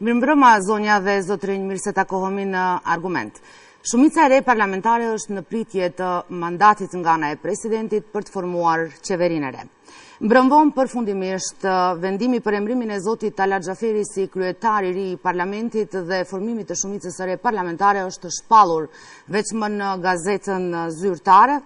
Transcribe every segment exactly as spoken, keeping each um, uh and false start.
Мирмбрëma zonja dhe zotrinj, mirë se takohemi në argument. Shumica e re parlamentare është në pritje të mandatit nga ana e presidentit për të formuar qeverinë e re. Mbrëmvon përfundimisht vendimi për emrimin e zotit Talat Xhaferi si kryetar i ri i parlamentit dhe formimit të shumicës së re parlamentare është shpallur veçmë në gazetën zyrtare.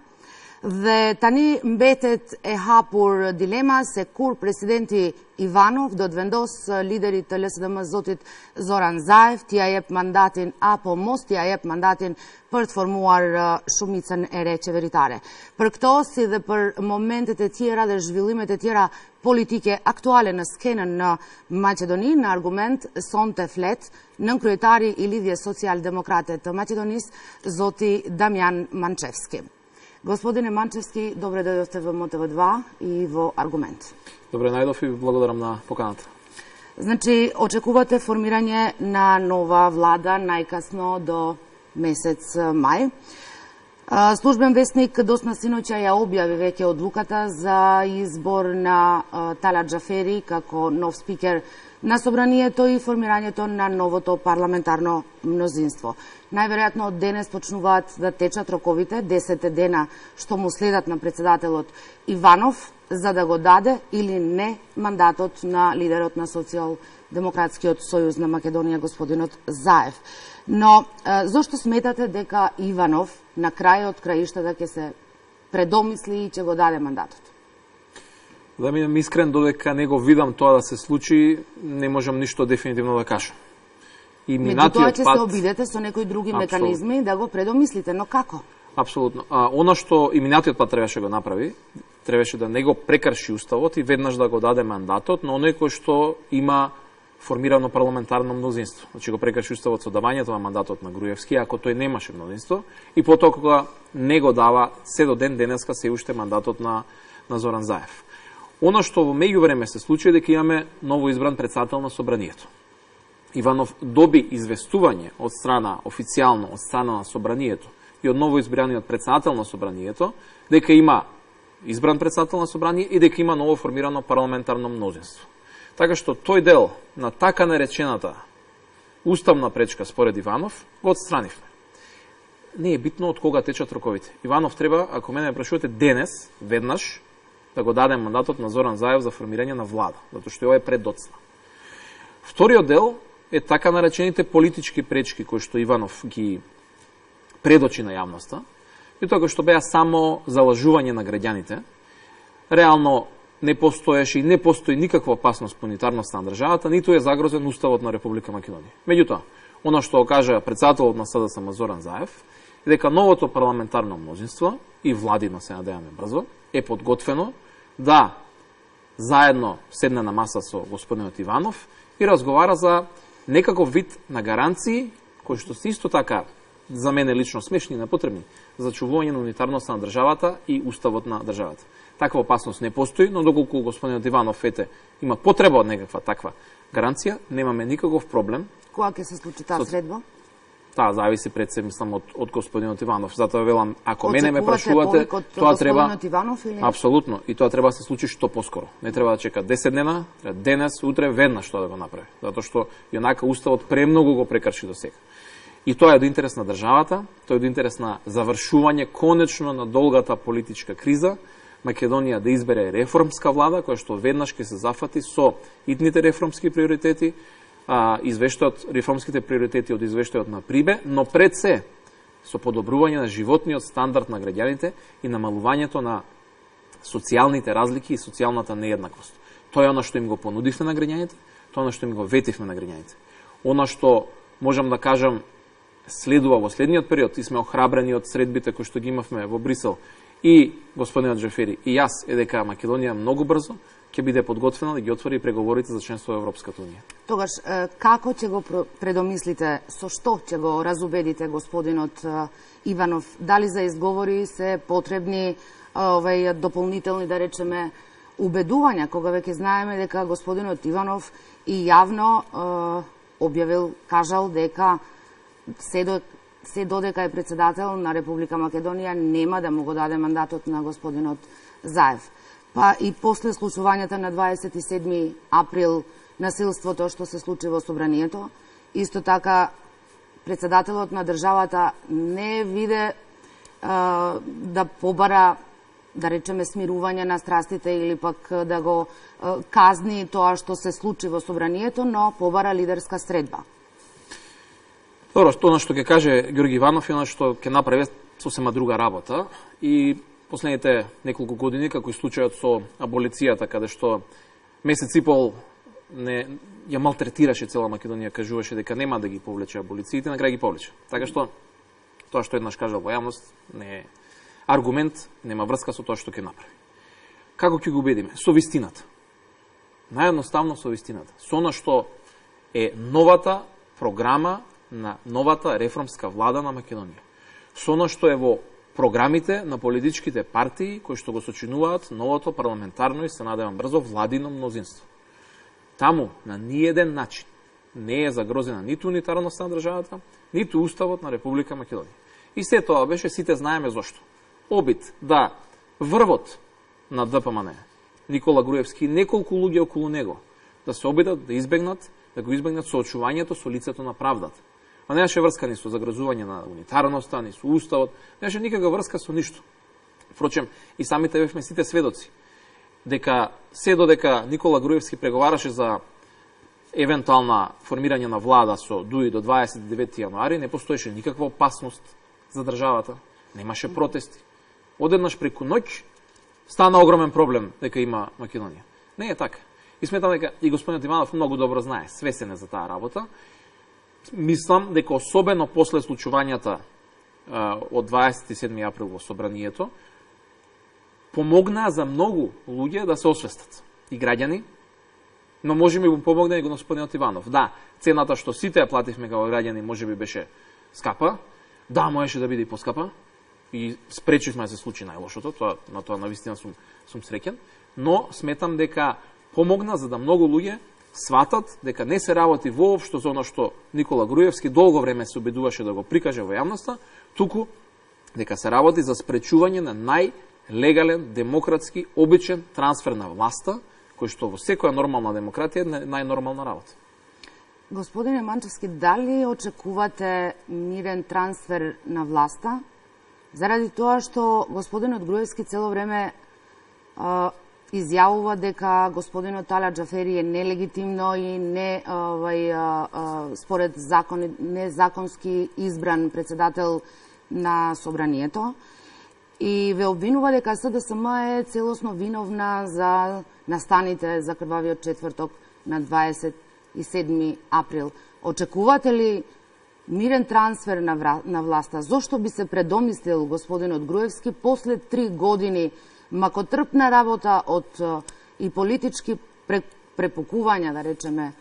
Dhe tani mbetet e hapur dilema se kur presidenti Ivanov do të vendos liderit të L S D M zotit Zoran Zaev t'ia jep mandatin apo mos t'ia jep mandatin për të formuar shumicën e re qeveritare. Për këto, si dhe për momentet e tjera dhe zhvillimet e tjera politike aktuale në skenën në Maqedoni, në argument sonte flet nënkryetari i Lidhjes Social-Demokrate të Maqedonisë, zoti Damian Manchevski. Господине Манчевски, добре дојдовте во М Т В два и во Аргумент. Добре најдов и благодарам на поканата. Значи, очекувате формирање на нова влада најкасно до месец мај. Службен вестник Досна синоќа ја објави веќе одлуката за избор на Талат Xhaferi како нов спикер на собранието и формирањето на новото парламентарно мнозинство. Најверојатно од денес почнуваат да течат роковите, десет дена што му следат на председателот Иванов, за да го даде или не мандатот на лидерот на Социјалдемократскиот сојуз на Македонија, господинот Заев. Но зошто сметате дека Иванов на крајот краиштата ќе се предомисли и ќе го даде мандатот? Да бидам искрен, додека не го видам тоа да се случи, не можам ништо дефинитивно да кажам. И меѓутоа ќе се обидете со некои други Абсолютно. Меканизми да го предомислите, но како? Апсолутно. А, она што и минатиот пат требаше го направи, требаше да не го прекрши уставот и веднаш да го даде мандатот на оној кој што има формирано парламентарно мнозинство. Значи го прекрши уставот со давањето на мандатот на Груевски, ако тој немаше мнозинство, и потоа кога не го дава се до ден денеска се уште мандатот на на Зоран Заев. Она што во меѓувреме се случи е дека имаме ново избран председател на собранието. Иванов доби известување од страна, официјално од страна на собранието и од ново избраниот председател на собранието, дека има избран председател на собрание и дека има ново формирано парламентарно мнозинство. Така што тој дел на така наречената уставна пречка според Иванов го отстранивме. Не е битно од кога течат роковите. Иванов треба, ако мене прашувате денес, веднаш, да го даде мандатот на Зоран Заев за формирање на влада, затоа што ова е преддоцна. Вториот дел е така наречените политички пречки кои што Иванов ги предочи на јавноста, и тоа кои што беа само залажување на граѓаните. Реално не постоеше и не постои никаква опасност по унитарноста на државата, ниту е загрозен уставот на Република Македонија. Меѓутоа, она што кажа председателот на С Д С М Зоран Заев, е дека новото парламентарно мнозинство и владино, се надеваме брзо, е подготвено да заедно седне на маса со господинот Иванов и разговара за некаков вид на гаранции, кои што се исто така за мене лично смешни и непотребни, за чувување на унитарноста на државата и уставот на државата. Таква опасност не постои, но доколку господинот Иванов ете има потреба од некаква таква гаранција, немаме никаков проблем. Кога ќе се случи таа средба? Таа зависи пред се, мислам, од, од господинот Иванов. Затоа велам, ако мене ме прашувате, тоа треба Иванов, или? Апсолутно, и тоа треба да се случи што поскоро. Не треба да чека десет дена, треба денес, утре, веднаш тоа да го направи. Затоа што јонака уставот премногу го прекрши до сега. И тоа е до интерес на државата, тоа е до интерес на завршување конечно на долгата политичка криза, Македонија да избере реформска влада, која што веднаш ќе се зафати со итните реформски приоритети, извештајот, реформските приоритети од извештајот на Прибе, но пред се со подобрување на животниот стандард на граѓаните и намалувањето на социјалните разлики и социјалната нееднаквост. Тоа е она што им го понудивме на граѓаните, тоа е она што им го ветивме на граѓаните. Она што можам да кажам следува во следниот период и сме охрабрени од средбите кои што ги имавме во Брисел и господинот Xhaferi и јас, е дека Македонија многу брзо ќе биде подготвена да ги отвори преговорите за членство во Европската унија. Тогаш, како ќе го предомислите, со што ќе го разубедите господинот Иванов? Дали за изговори се потребни овај дополнителни, да речеме, убедувања, кога веќе знаеме дека господинот Иванов и јавно објавил, кажал дека се, до, се додека е председател на Република Македонија нема да му го даде мандатот на господинот Заев. Па и после случувањата на дваесет и седми април насилството што се случи во собранието. Исто така, председателот на државата не виде а, да побара, да речеме, смирување на страстите или пак да го а, казни тоа што се случи во собранието, но побара лидерска средба. Добро, тоа што ќе каже Ѓорги Иванов е што ќе направи сосема друга работа и последните неколку години, како и случајот со аболицијата, каде што месец и пол не ја малтретираше цела Македонија, кажуваше дека нема да ги повлече аболициите, на крај ги повлече. Така што тоа што еднаш кажал во јавност не е аргумент, нема врска со тоа што ќе направи. Како ќе го убедиме? Со вистината. Наједноставно со вистината. Со она што е новата програма на новата реформска влада на Македонија. Со она што е во програмите на политичките партии кои што го сочинуваат новото парламентарно и се надевам брзо владино мнозинство. Таму на ниеден начин не е загрозена ниту унитарноста на државата, ниту уставот на Република Македонија. И се тоа беше, сите знаеме зошто. Обид да врвот на ДПМН, Никола Груевски и неколку луѓе околу него, да се обидат да избегнат, да го избегнат соочувањето со лицето на правдата. А немаше врска ни со загрозување на унитарноста, ни со уставот, немаше никаква врска со ништо. Впрочем, и самите бевме сите сведоци, дека се додека Никола Груевски преговараше за евентуална формирање на влада со ДУИ до дваесет и девети јануари, не постоеше никаква опасност за државата, немаше протести. Одеднаш преку ноќ стана огромен проблем дека има Македонија. Не е така. И сметам дека и господинот Иванов многу добро знае, свесен е за таа работа. Мислам дека особено после случувањата од дваесет и седми април во собранието, помогна за многу луѓе да се освестат. И граѓани, но може би му помогна и господинот Иванов. Да, цената што сите ја плативме како граѓани може би беше скапа, да, можеше да биде и поскапа, и спречивме да се случи најлошото, тоа, на тоа навистина сум, сум среќен, но сметам дека помогна за да многу луѓе сватат дека не се работи воопшто за оно што Никола Груевски долго време се обидуваше да го прикаже во јавноста, туку дека се работи за спречување на најлегален, демократски, обичен трансфер на власта, кој што во секоја нормална демократија е најнормална работа. Господине Манчевски, дали очекувате мирен трансфер на власта, заради тоа што господинот Груевски цело време а, изјавува дека господинот Талат Џафери е нелегитимно и не овај а, а, според закон незаконски избран председател на собранието и ве обвинува дека СДСМ е целосно виновна за настаните за крвавиот четврток на дваесет и седми април. Очекувате ли мирен трансфер на, вра... на власта? Зошто би се предомислил господинот Груевски после три години макотрпна работа од и политички препукувања, да речеме,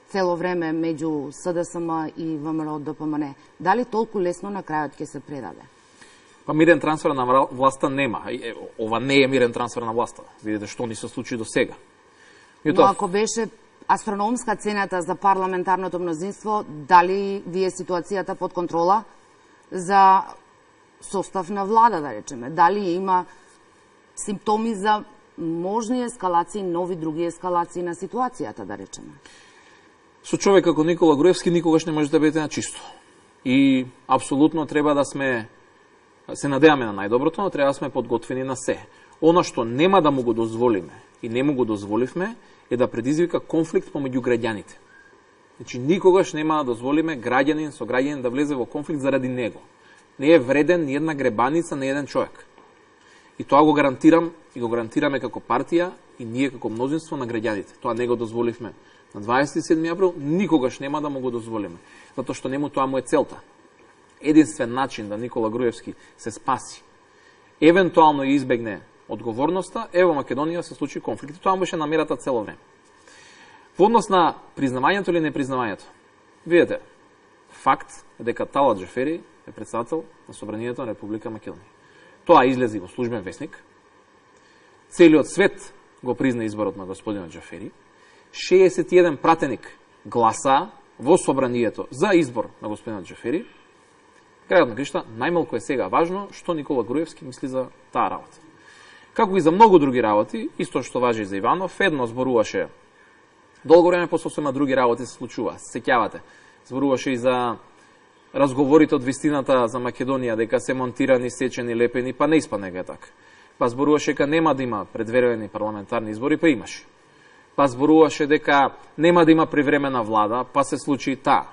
цело време меѓу СДСМ и ВМРО ДПМН? Дали толку лесно на крајот ќе се предаде? Па мирен трансфер на власта нема. Ова не е мирен трансфер на власта. Видите што ни се случи до сега. Но тоа... ако беше астрономска цената за парламентарното мнозинство, дали ви е ситуацијата под контрола за состав на влада, да речеме? Дали има симптоми за можни ескалации, нови други ескалации на ситуацијата, да речеме? Со човек како Никола Груевски никогаш не може да бидете на чисто. И апсолутно треба да сме, се надеваме на најдоброто, но треба да сме подготвени на се. Оно што нема да му го дозволиме и не му го дозволивме е да предизвика конфликт помеѓу граѓаните. Значи, никогаш нема да дозволиме граѓанин со граѓанин да влезе во конфликт заради него. Не е вреден ни една гребаница на еден човек. И тоа го гарантирам и го гарантираме како партија и ние како мнозинство на граѓаните. Тоа не го дозволивме на дваесет и седми април, никогаш нема да му го дозволиме. Затоа што нему тоа му е целта. Единствен начин да Никола Груевски се спаси, евентуално и избегне одговорноста, е во Македонија се случи конфликт. Тоа беше намерата цело време. Во однос на признавањето или непризнавањето, видите, факт е дека Талат Џафери е председател на Собранието на Република Македонија. Тоа излези во службен весник. Целиот свет го призна изборот на господинот Џафери. шеесет и еден пратеник гласа во Собранието за избор на господинот Џафери. Крајот на кришта, најмалку е сега важно што Никола Груевски мисли за таа работа. Како и за многу други работи, исто што важи за Иванов, едно зборуваше Долго време по сосема други работи се случува. Сеќавате. Зборуваше и за разговорите од вистината за Македонија, дека се монтирани, сечени, лепени, па не испадне дека е така. Па зборуваше дека нема да има предверени парламентарни избори, па имаше. Па зборуваше дека нема да има привремена влада, па се случи и таа.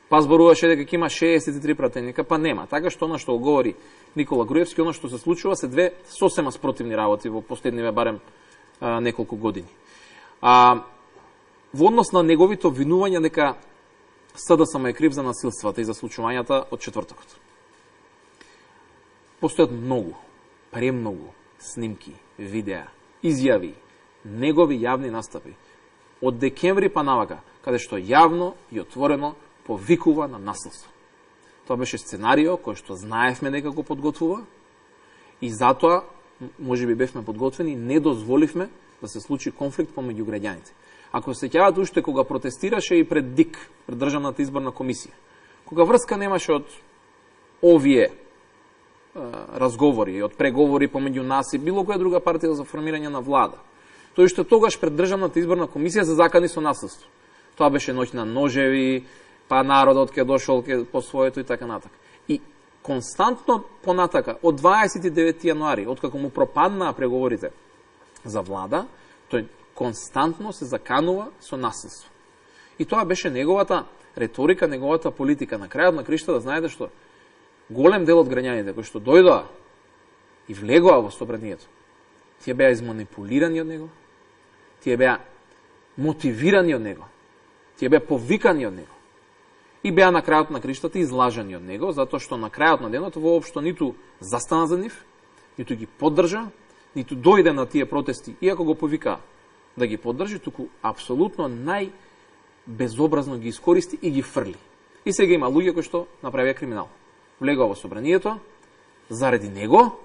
Па зборуваше дека ќе има шеесет и три пратеника, па нема. Така што она што го говори Никола Груевски, она што се случува се две сосема спротивни работи во последниве барем а, неколку години. А, во однос на неговите обвинувања дека СДСМ е крив за насилствата и за случувањата од четвртокот. Постојат многу, премногу снимки, видеа, изјави, негови јавни настапи од декември па навака, каде што јавно и отворено повикува на насилство. Тоа беше сценарио кој што знаевме дека го подготвува и затоа можеби бевме подготвени и не дозволивме да се случи конфликт помеѓу граѓаните. Ако се сеќавате уште кога протестираше и пред ДИК, пред Државната изборна комисија, кога врска немаше од овие е, разговори, од преговори помеѓу нас и било која друга партија за формирање на влада, тој што тогаш пред Државната изборна комисија се закани со насилство. Тоа беше ноќ на ножеви, па народот ке дошол ке по своето и така натака. И константно понатака, од дваесет и девети јануари, откако му пропаднаа преговорите за влада, тој константно се заканува со насилство. И тоа беше неговата реторика, неговата политика. На крајот на кришта да знаете што голем дел од граѓаните кои што дојдоа и влегоа во собранието, тие беа изманипулирани од него, тие беа мотивирани од него, тие беа повикани од него. И беа на крајот на криштата излажани од него, затоа што на крајот на денот воопшто ниту застана за нив, ниту ги поддржа, ниту дојде на тие протести, иако го повика да ги поддржи, туку апсолутно најбезобразно ги искористи и ги фрли. И сега има луѓе кои што направија криминал. Влегува во собранието, заради него,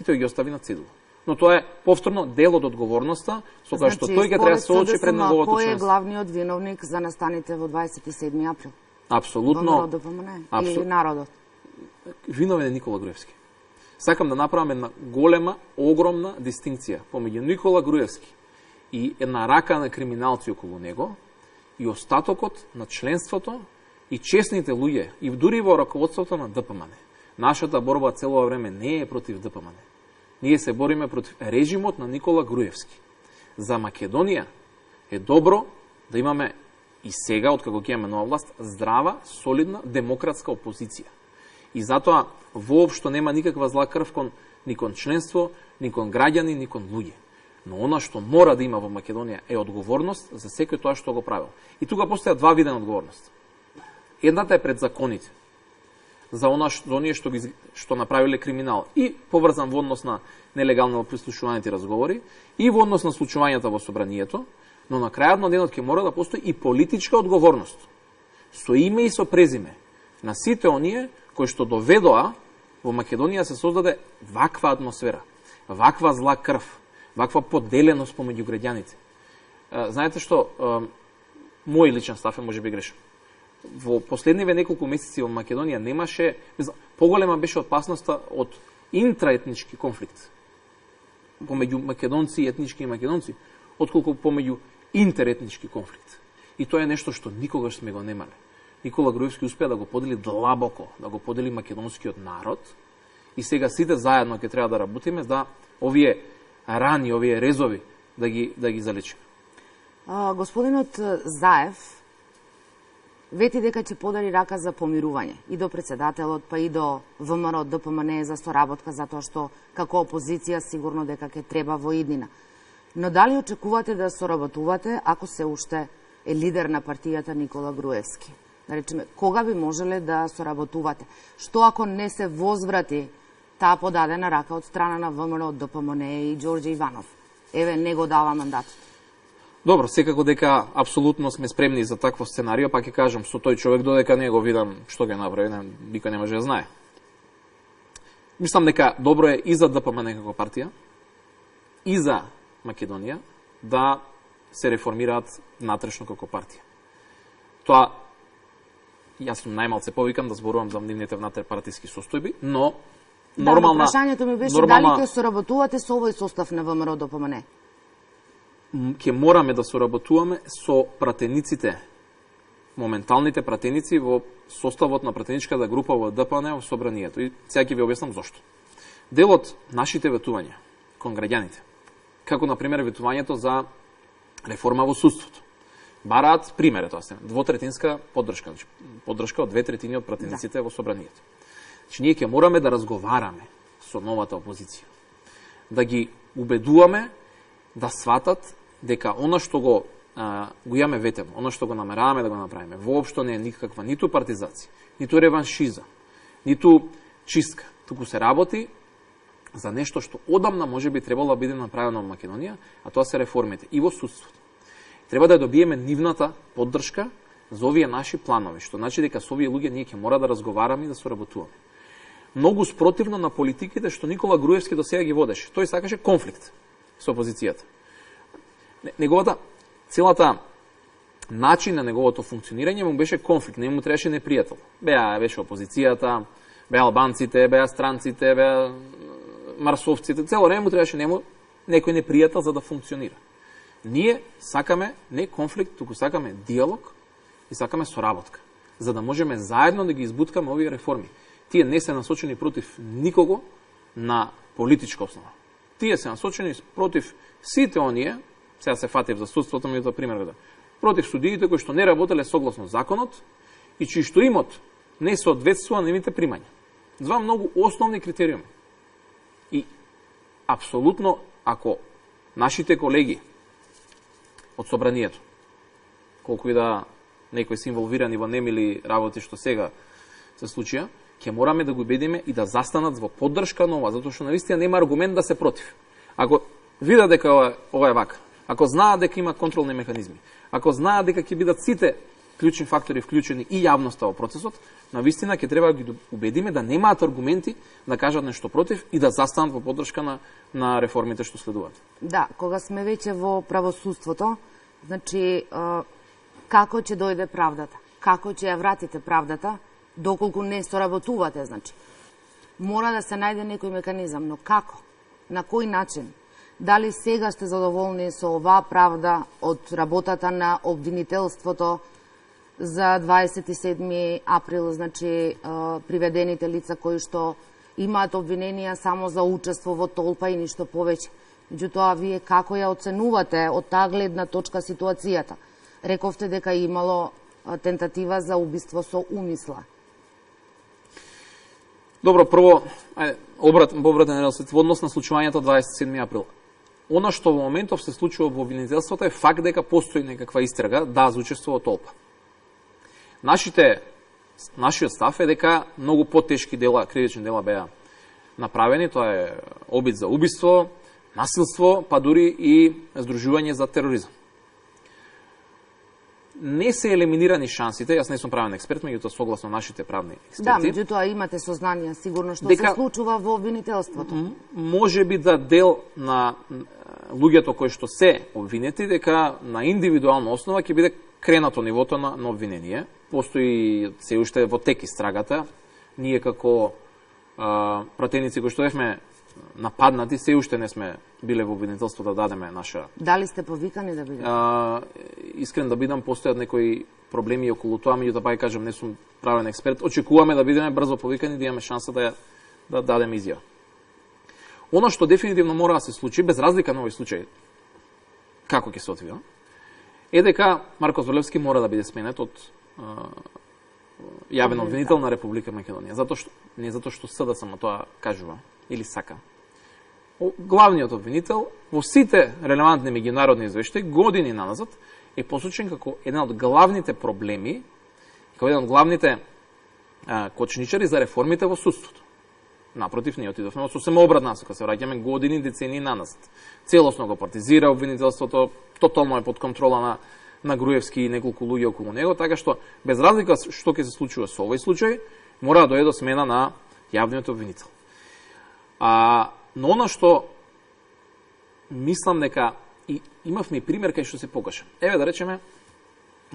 и тој ги остави на цедула. Но тоа е повторно дел од одговорноста, со која што тој ќе треба да се соочи пред неговото членство. Кој е главниот виновник за настаните во дваесет и седми април? Апсолутно. Абсол... Или народот? Виновен е Никола Груевски. Сакам да направам една голема, огромна дистинкција помеѓу Никола Груевски и една рака на криминалци околу него и остатокот на членството и честните луѓе и дури во раководството на ДПМН. Нашата борба цело време не е против ДПМН. Ние се бориме против режимот на Никола Груевски. За Македонија е добро да имаме и сега, откако ќе имаме нова власт, здрава, солидна, демократска опозиција. И затоа воопшто нема никаква зла крв кон ни кон членство, ни кон граѓани, ни кон луѓе. Но она што мора да има во Македонија е одговорност за секој тоа што го правил. И тука постоја два вида одговорност. Едната е пред законите. За она што, за оние што, ги, што направиле криминал и поврзан во однос на нелегално прислушуваните разговори и во однос на случувањата во собранието, но на крајот на денот ќе мора да постои и политичка одговорност. Со име и со презиме на сите оние кои што доведоа во Македонија се создаде ваква атмосфера, ваква зла крв, ваква поделеност помеѓу граѓаните. Знаете што, мој личен став е можеби грешен. Во последниве неколку месеци во Македонија немаше, поголема беше опасноста од интраетнички конфликт помеѓу македонци и етнички и македонци, отколку помеѓу интеретнички конфликт. И тоа е нешто што никогаш сме го немале. Никола Груевски успеа да го подели длабоко, да го подели македонскиот народ и сега сите заедно ќе треба да работиме да овие рани, овие резови да ги да ги залечиме. А, господинот Заев вети дека ќе подари рака за помирување и до председателот, па и до ВМРО, ДПМН за соработка, затоа што како опозиција сигурно дека ќе треба во иднина. Но дали очекувате да соработувате ако се уште е лидер на партијата Никола Груевски? Да речеме, кога би можеле да соработувате? Што ако не се возврати таа подадена рака од страна на ВМРО, ДПМН и Ѓорѓе Иванов? Еве, не го дава мандатот. Добро, секако дека апсолутно сме спремни за такво сценарио, па ќе кажам, со тој човек додека не го видам што ќе направи, не, никој не може да знае. Мислам дека добро е и за ДПМН како партија, и за Македонија да се реформираат натрешно како партија. Тоа, јас сум најмалце повикан да зборувам за нивните внатрешпартиски состојби, но нормална... Да, прашањето ми беше нормална... дали ќе соработувате со овој состав на ВМРО ДПМН? ќе мораме да соработуваме со пратениците, моменталните пратеници во составот на пратеничката група во Д П Н во собранието. И сега ќе ви објаснам зошто. Дел од нашите ветувања кон граѓаните, како на пример ветувањето за реформа во судството, бараат пример, тоа се двотретинска поддршка, значи поддршка од две третини од пратениците да. Во собранието. Значи ние ќе мораме да разговараме со новата опозиција, да ги убедуваме да сватат дека она што го а, го имаме ветено, она што го намераваме да го направиме, воопшто не е никаква ниту партизација, ниту реваншиза, ниту чистка, туку се работи за нешто што одамна може би требало да биде направено во Македонија, а тоа се реформите и во судството. Треба да добиеме нивната поддршка за овие наши планови, што значи дека со овие луѓе ние ќе мора да разговараме и да соработуваме. Многу спротивно на политиките што Никола Груевски до сега ги водеше. Тој сакаше конфликт со опозицијата. Неговата, целата начин на неговото функционирање му беше конфликт, не му требаше непријател. Беа беше опозицијата, беа албанците, беа странците, беа марсовците, цело време му требаше нему некој непријател за да функционира. Ние сакаме не конфликт, туку сакаме диалог и сакаме соработка, за да можеме заедно да ги избуткаме овие реформи. Тие не се насочени против никого на политичка основа. Тие се насочени против сите оние, сега се фатив за судството, ми да пример да, против судиите кои што не работеле согласно законот и чии што имот не соодветствува на нивните примања. Два многу основни критериуми. И апсолутно, ако нашите колеги од собранието, колку и да некои се инволвирани во немили работи што сега се случија, ќе мораме да го убедиме и да застанат во поддршка на ова, затоа што навистина нема аргумент да се против. Ако видат дека ова, ова е вака, ако знаат дека има контролни механизми, ако знаат дека ќе бидат сите клучни фактори вклучени и јавноста во процесот, навистина ќе треба да ги убедиме да немаат аргументи да кажат нешто против и да застанат во поддршка на, на реформите што следуваат. Да, кога сме веќе во правосудството, значи, како ќе дојде правдата? Како ќе ја вратите правдата, доколку не соработувате, значи? Мора да се најде некој механизам, но како? На кој начин? Дали сега сте задоволни со оваа правда од работата на обвинителството за дваесет и седми април, значи приведените лица кои што имаат обвиненија само за учество во толпа и ништо повеќе? Меѓутоа, вие како ја оценувате од таа гледна точка ситуацијата? Рековте дека имало тентатива за убиство со умисла. Добро, прво, ајде, обрат, обратен релсет, во однос на случувањето дваесет и седми април. Она што во моментов се случува во обвинителството е факт дека постои некаква истрага, да, за учество во толпа. Нашите, нашиот став е дека многу потешки дела, кривични дела беа направени, тоа е обид за убиство, насилство, па дури и здружување за тероризам. Не се елиминирани шансите, јас не сум правен експерт, меѓутоа согласно нашите правни експерти. Да, меѓутоа имате сознание сигурно што дека, се случува во обвинителството. Може би да дел на луѓето кои што се обвинети, дека на индивидуална основа ќе биде кренато нивото на, на обвинение. Постои се уште во тек истрагата. Ние како а, пратеници кои што бевме нападнати, се уште не сме биле во обвинителство да дадеме наша... Дали сте повикани да бидете? А, искрен да бидам, постојат некои проблеми околу тоа, меѓутоа па кажам, не сум правен експерт. Очекуваме да бидеме брзо повикани, да имаме шанса да, да дадеме изјава. Оно што дефинитивно мора да се случи, без разлика на овој случај, како ќе се одвива, е дека Марко Зврлевски мора да биде сменет од а, јавен обвинител на Република Македонија. Затоа што, не затоа што СД само тоа кажува или сака. Главниот обвинител во сите релевантни меѓународни извештаи години назад е посочен како еден од главните проблеми, како еден од главните а, кочничари за реформите во судството. Напротив, ние отидовме во сосема обратна насока, се враќаме години, децении наназад. Целосно го партизира обвинителството, тотално е под контрола на, на Груевски и неколку луѓе околу него, така што без разлика што ќе се случува со овој случај, мора да дојде до смена на јавниот обвинител. А, но оно што мислам дека и имавме пример кај што се покажа. Еве да речеме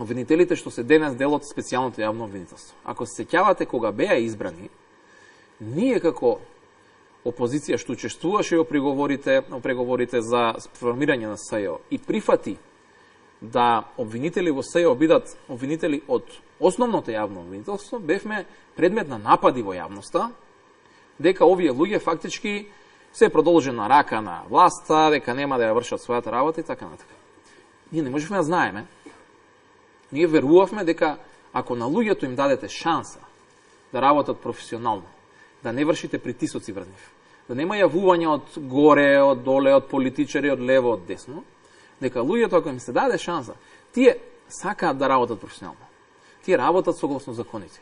обвинителите што се денес дел од специјалното јавно обвинителство. Ако се сеќавате кога беа избрани, ние како опозиција што учествуваше во преговорите, во преговорите за формирање на СЈО и прифати да обвинители во СЈО бидат обвинители од основното јавно обвинителство, бевме предмет на напади во јавноста, дека овие луѓе фактички се продолжена рака на власта, дека нема да ја вршат својата работа и така натака. Ние не можевме да знаеме. Ние верувавме дека ако на луѓето им дадете шанса да работат професионално, да не вршите притисоци врз нив, да нема јавување од горе, од доле, од политичари, од лево, од десно, дека луѓето ако им се даде шанса, тие сакаат да работат професионално. Тие работат согласно законите.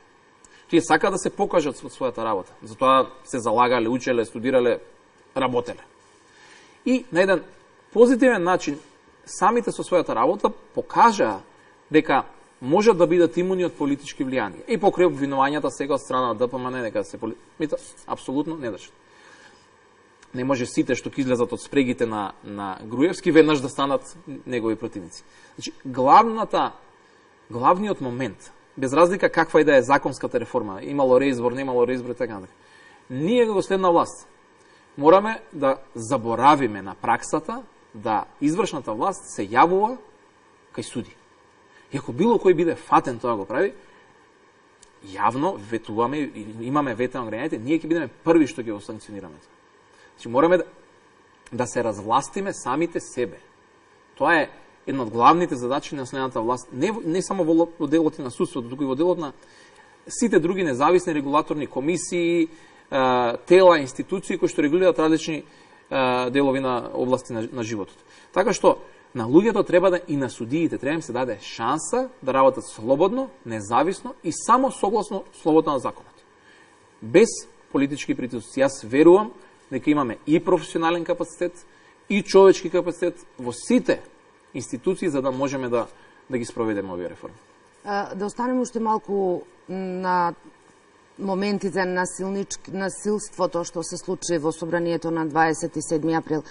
Тие сакаат да се покажат со својата работа. Затоа се залагале, учеле, студирале, работеле. И на еден позитивен начин самите со својата работа покажаа дека можат да бидат имуни од политички влијанија. И покрај обвинувањата сега од страна на ДПМН дека се поли... Мито, апсолутно не држат. Не може сите што ќе излезат од спрегите на, на Груевски веднаш да станат негови противници. Значи, главната, главниот момент, без разлика каква и да е законската реформа, имало реизбор, немало реизбор и така натака, ние како следна власт мораме да заборавиме на праксата да извршната власт се јавува кај суди. И ако било кој биде фатен тоа го прави, јавно ветуваме, имаме вете на граѓаните, ние ќе бидеме први што ќе го санкционираме. Значи, мораме да, да се развластиме самите себе. Тоа е една од главните задачи на следната власт, не, не само во, во делот на судството, туку и во делот на сите други независни регулаторни комисии, тела, институции кои што регулираат различни делови на области на, на животот. Така што на луѓето треба да и на судиите треба им се даде шанса да работат слободно, независно и само согласно словото на законот. Без политички притисоци. Јас верувам дека имаме и професионален капацитет и човечки капацитет во сите институции за да можеме да да ги спроведеме овие реформи. Да останеме уште малку на моментите на насилството што се случи во собранието на дваесет и седми април.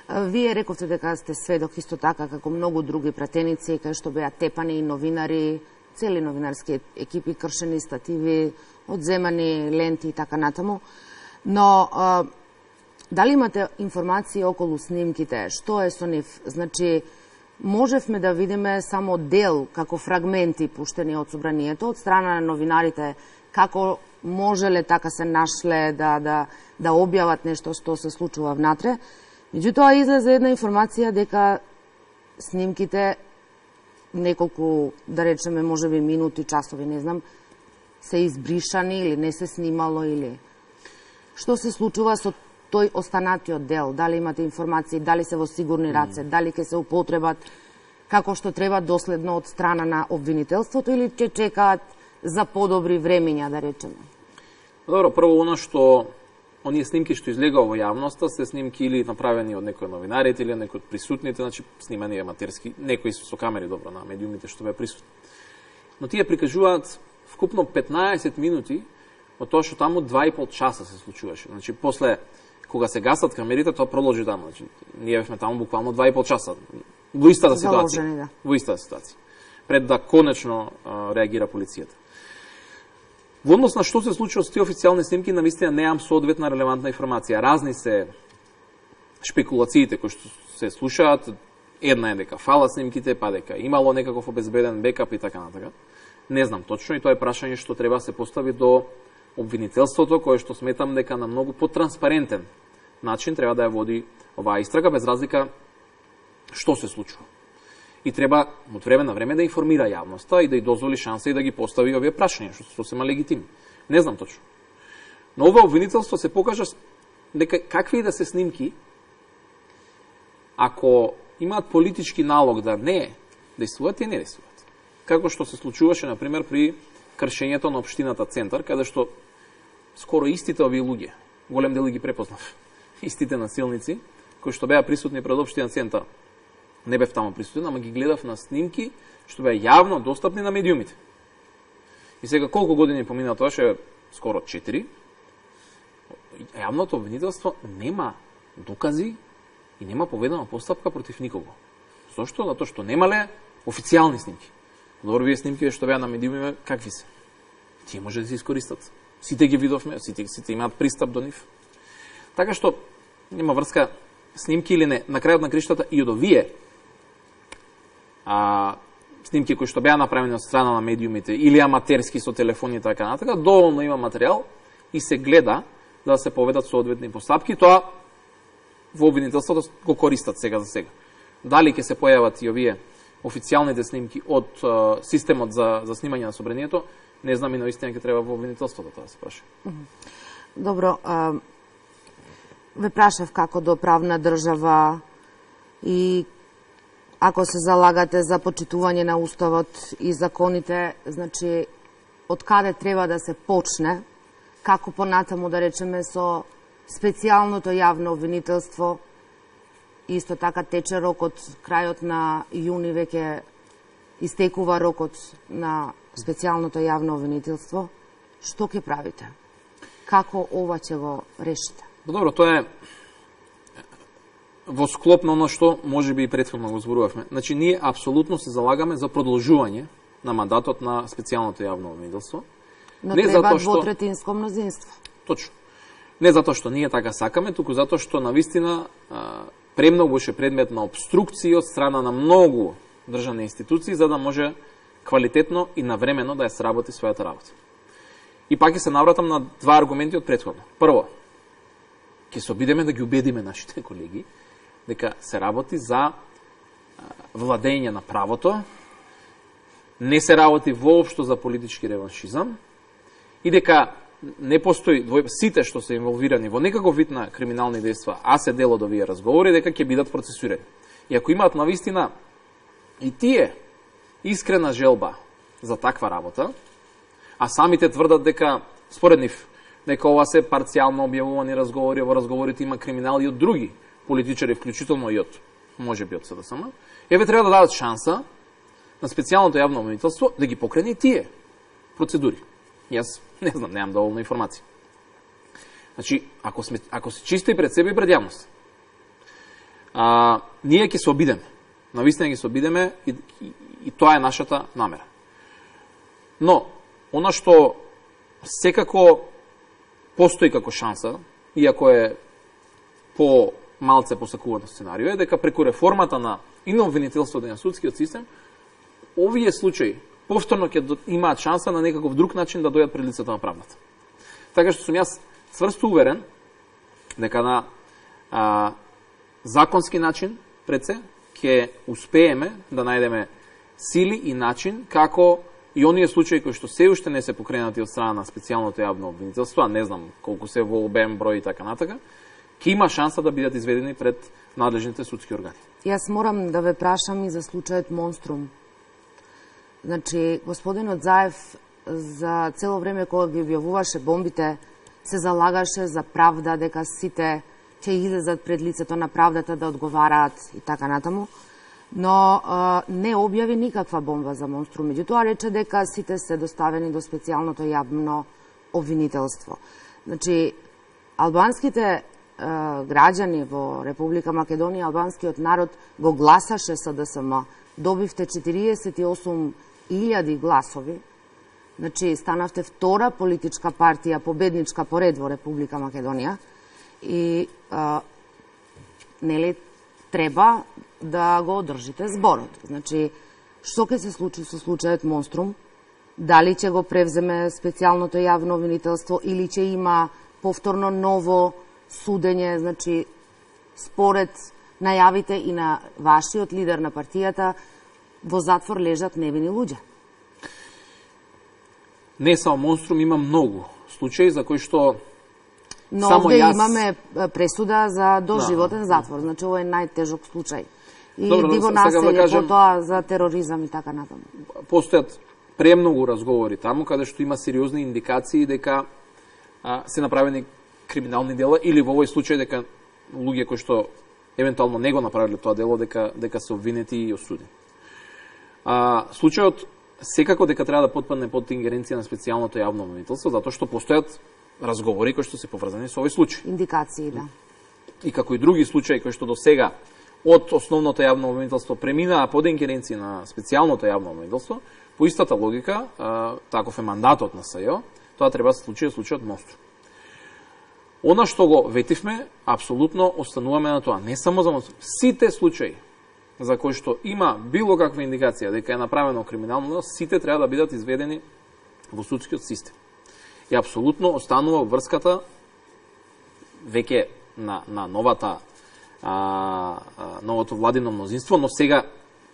Вие рековте дека сте сведок исто така како многу други пратеници, кај што беа тепани и новинари, цели новинарски екипи, кршени стативи, одземани ленти и така натаму. Но а, дали имате информации околу снимките? Што е со нив? Значи, можевме да видиме само дел, како фрагменти пуштени од собранието, од страна на новинарите, како можеле така се нашле да, да, да објават нешто што се случува внатре. Меѓутоа излезе една информација дека снимките неколку, да речеме, можеби минути, часови, не знам, се избришани или не се снимало или што се случува со тој останатиот дел? Дали имате информации, дали се во сигурни раце, дали ќе се употребат како што треба доследно од страна на обвинителството или ќе чекаат за подобри времења, да речеме? Добро, прво оно што оние снимки што излегува во јавноста се снимки или направени од некои новинарите или некои од присутните, значи снимани аматерски, некои со камери добро на медиумите што беа присутни. Но тие прикажуваат вкупно петнаесет минути од тоа што таму два и пол часа се случуваше. Значи после кога се гасат камерите, тоа продолжи таму. Значи ние бевме таму буквално два и пол часа во истата ситуација. Заложени, да. Во истата ситуација. Пред да конечно а, реагира полицијата. Во однос на што се случува со тие официјални снимки, навистина неам соодветна релевантна информација. Разни се шпекулациите кои што се слушаат. Една е дека фала снимките, па дека имало некаков обезбеден бекап и така натака. Не знам точно и тоа е прашање што треба се постави до обвинителството, кое што сметам дека на многу потранспарентен начин треба да ја води оваа истрага, без разлика што се случува. И треба од време на време да информира јавноста и да ја дозволи шанса и да ги постави овие прашања, што сосема легитимни. Не знам точно. Но ова обвинителство се покажа дека какви и да се снимки, ако имаат политички налог да не действуваат, и не действуваат. Како што се случуваше, например, при кршењето на општината Центар, каде што скоро истите овие луѓе, голем дел ги препознав, истите насилници, кои што беа присутни пред општина Центар, не бев таму присутен, ама ги гледав на снимки што беа јавно достапни на медиумите. И сега колку години помина тоа, ше скоро четири, јавното обвинителство нема докази и нема поведена постапка против никого. Зошто? Затоа што немале официјални снимки. Добро, вие снимки што беа на медиумите, какви се? Тие може да се искористат. Сите ги видовме, сите, сите имаат пристап до нив. Така што нема врска снимки или не, на крајот на криштата и од овие а, снимки кои што беа направени од страна на медиумите или аматерски со телефони и така натака, доволно има материјал и се гледа да се поведат соодветни постапки. Тоа во обвинителството го користат сега за сега. Дали ќе се појават и овие официјалните снимки од uh, системот за, за снимање на собранието, не знам и наистина ќе треба во обвинителството тоа да се праша. Добро, а, ве прашав како до правна држава и ако се залагате за почитување на уставот и законите, значи од каде треба да се почне, како понатаму да речеме со специјалното јавно обвинителство. Исто така тече рокот, крајот на јуни веќе истекува рокот на специјалното јавно обвинителство. Што ќе правите? Како ова ќе го решите? Добро, тоа е во склоп на оно што можеби и претходно го зборувавме. Значи, ние апсолутно се залагаме за продолжување на мандатот на специјалното јавно обвинителство. Но не треба двотретинско мнозинство. Точно. Не затоа што ние така сакаме, туку затоа што навистина премногу беше предмет на обструкции од страна на многу државни институции за да може квалитетно и навремено да ја сработи својата работа. И пак ќе се навратам на два аргументи од претходно. Прво, ќе се обидеме да ги убедиме нашите колеги дека се работи за владење на правото, не се работи воопшто за политички реваншизам и дека не постои двој... сите што се инволвирани во некаков вид на криминални дејства, а се дел од овие разговори, дека ќе бидат процесуирани. И ако имаат навистина и тие искрена желба за таква работа, а самите тврдат дека според нив дека ова се парцијално објавувани разговори, во разговорите има криминал и од други политичари, вклучително и од можеби од СДСМ, еве треба да дадат шанса на специјалното јавно обвинителство да ги покрене и тие процедури. Јас не знам, немам доволно информација. Значи, ако, сме, ако се чисти пред себе и пред јавност, а, ние ќе се обидеме. Навистина ќе се обидеме и, и, и тоа е нашата намера. Но, она што секако постои како шанса, иако е по малце посакувано сценарио, е дека преку реформата на и на обвинителството и на судскиот систем, овие случаи повторно ќе имаат шанса на некаков друг начин да дојдат пред лицето на правдата. Така што сум јас цврсто уверен дека на а, законски начин пред се ќе успееме да најдеме сили и начин како и оние случаи кои што се уште не се покренати од страна на специјалното јавно обвинителство, а не знам колку се во обем, број и така натака, ќе има шанса да бидат изведени пред надлежните судски органи. Јас морам да ве прашам и за случајот Монструм. Значи, господинот Заев за цело време кога ги објавуваше бомбите, се залагаше за правда, дека сите ќе излезат пред лицето на правдата да одговараат и така натаму, но а, не објави никаква бомба за Монструм. Меѓутоа рече дека сите се доставени до специјалното јавно обвинителство. Значи, албанските а, граѓани во Република Македонија, албанскиот народ го гласаше СДСМ. Добивте четириесет и осум илјади гласови. Значи, станавте втора политичка партија, победничка поред во Република Македонија. И а, нели треба да го одржите зборот. Значи, што ќе се случи со случајот Монструм? Дали ќе го превземе специјалното јавно обвинителство или ќе има повторно ново судење? Значи, според најавите и на вашиот лидер на партијата, во затвор лежат невини луѓе. Не само Монструм, има многу случаи за кои што Но само овде јас... имаме пресуда за доживотен да. затвор, значи ова е најтежок случај. И Добро, диво да населје, кажем, потоа за тероризам и така натаму. Постојат премногу разговори таму, каде што има сериозни индикации дека а, се направени криминални дела, или во овој случај дека луѓе кои што евентуално не го направиле тоа дело, дека, дека се обвинети и осудени. А, случајот секако дека треба да потпадне под ингеренција на специјалното јавно обвинителство, затоа што постојат разговори кои што се поврзани со овој случај. Индикации, да. И како и други случаи кои што до сега од основното јавно обвинителство преминаа под ингеренција на специјалното јавно обвинителство, по истата логика, а, таков е мандатот на СЈО, тоа треба да се случи случајот Монструм. Она што го ветивме, апсолутно остануваме на тоа. Не само за сите случаи за кои што има било каква индикација дека е направено криминално, сите треба да бидат изведени во судскиот систем. И апсолутно останува врската веќе на, на новата а, а, новото владино мнозинство, но сега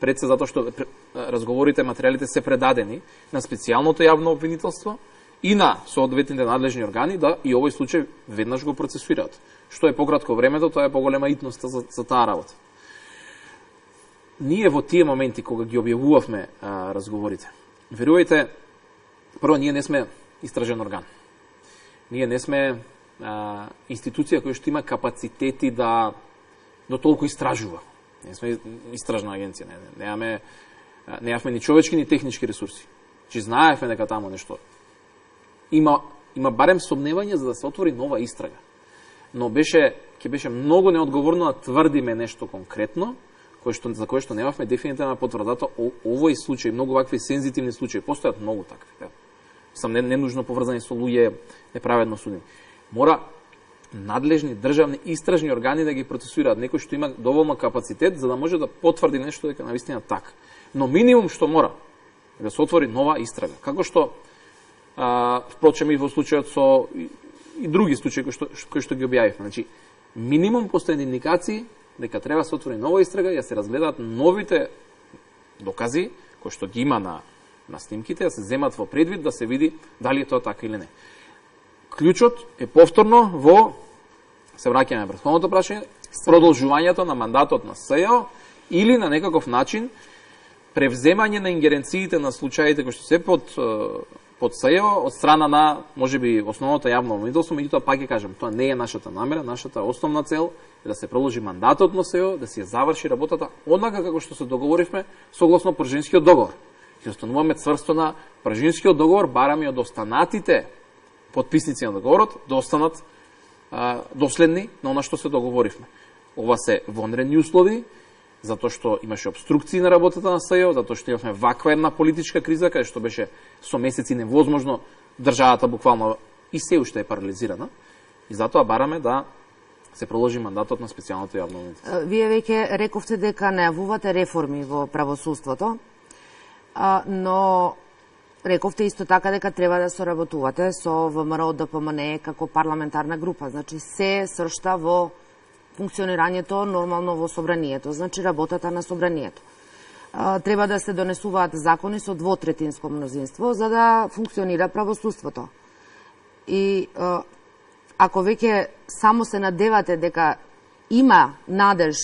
пред се затоа што разговорите, материјалите се предадени на специјалното јавно обвинителство и на соодветните надлежни органи да и овој случај веднаш го процесуираат. Што е пократко времето, тоа е поголема итноста за, за таа работа. Ние во тие моменти кога ги објавувавме а, разговорите, верувајте, прво ние не сме истражен орган. Ние не сме а, институција која што има капацитети да до толку истражува. Не сме истражна агенција, не, не, немаме немавме ни човечки ни технички ресурси. Че знаевме дека таму нешто има има барем сомневање за да се отвори нова истрага. Но беше ќе беше многу неодговорно да тврдиме нешто конкретно, кој што за кое што немавме дефинитивна потврда. Овој случај, многу вакви сензитивни случаи, постојат многу такви. Да. Сам не, не нужно поврзани со луѓе неправедно судени. Мора надлежни државни истражни органи да ги процесуираат, некој што има доволно капацитет за да може да потврди нешто дека навистина така. Но минимум што мора е да се отвори нова истрага. Како што а, впрочем и во случајот со и, и други случаи кои што, кои што ги објавивме. Значи, минимум постојани индикации дека треба да се отвори нова истрага и да се разгледаат новите докази кои што ги има на на снимките, да се земат во предвид, да се види дали е тоа така или не. Клучот е повторно во, се враќаме на претходното прашање, продолжувањето на мандатот на СЈО или на некаков начин превземање на ингеренциите на случаите кои што се под под СЈО од страна на можеби основното јавно обвинителство, меѓутоа пак ќе кажам, тоа не е нашата намера, нашата основна цел е да се продолжи мандатот на СЈО, да се заврши работата однака како што се договоривме согласно Пржинскиот договор. Ќе остануваме цврсто на Пржинскиот договор, бараме од останатите подписници на договорот да останат а, доследни на она што се договоривме. Ова се вонредни услови, затоа што имаше обструкции на работата на СЈО, затоа што имавме ваква една политичка криза, каде што беше со месеци невозможно државата буквално и се уште е парализирана. И затоа бараме да се продолжи мандатот на специјалното јавно обвинителство. Вие веќе рековте дека најавувате реформи во правосудството, но рековте исто така дека треба да соработувате со ВМРО Д П М Н како парламентарна група. Значи се сршта во функционирањето нормално во собранието, значи работата на собранието. Треба да се донесуваат закони со двотретинско мнозинство за да функционира правосудството. И ако веќе само се надевате дека има надеж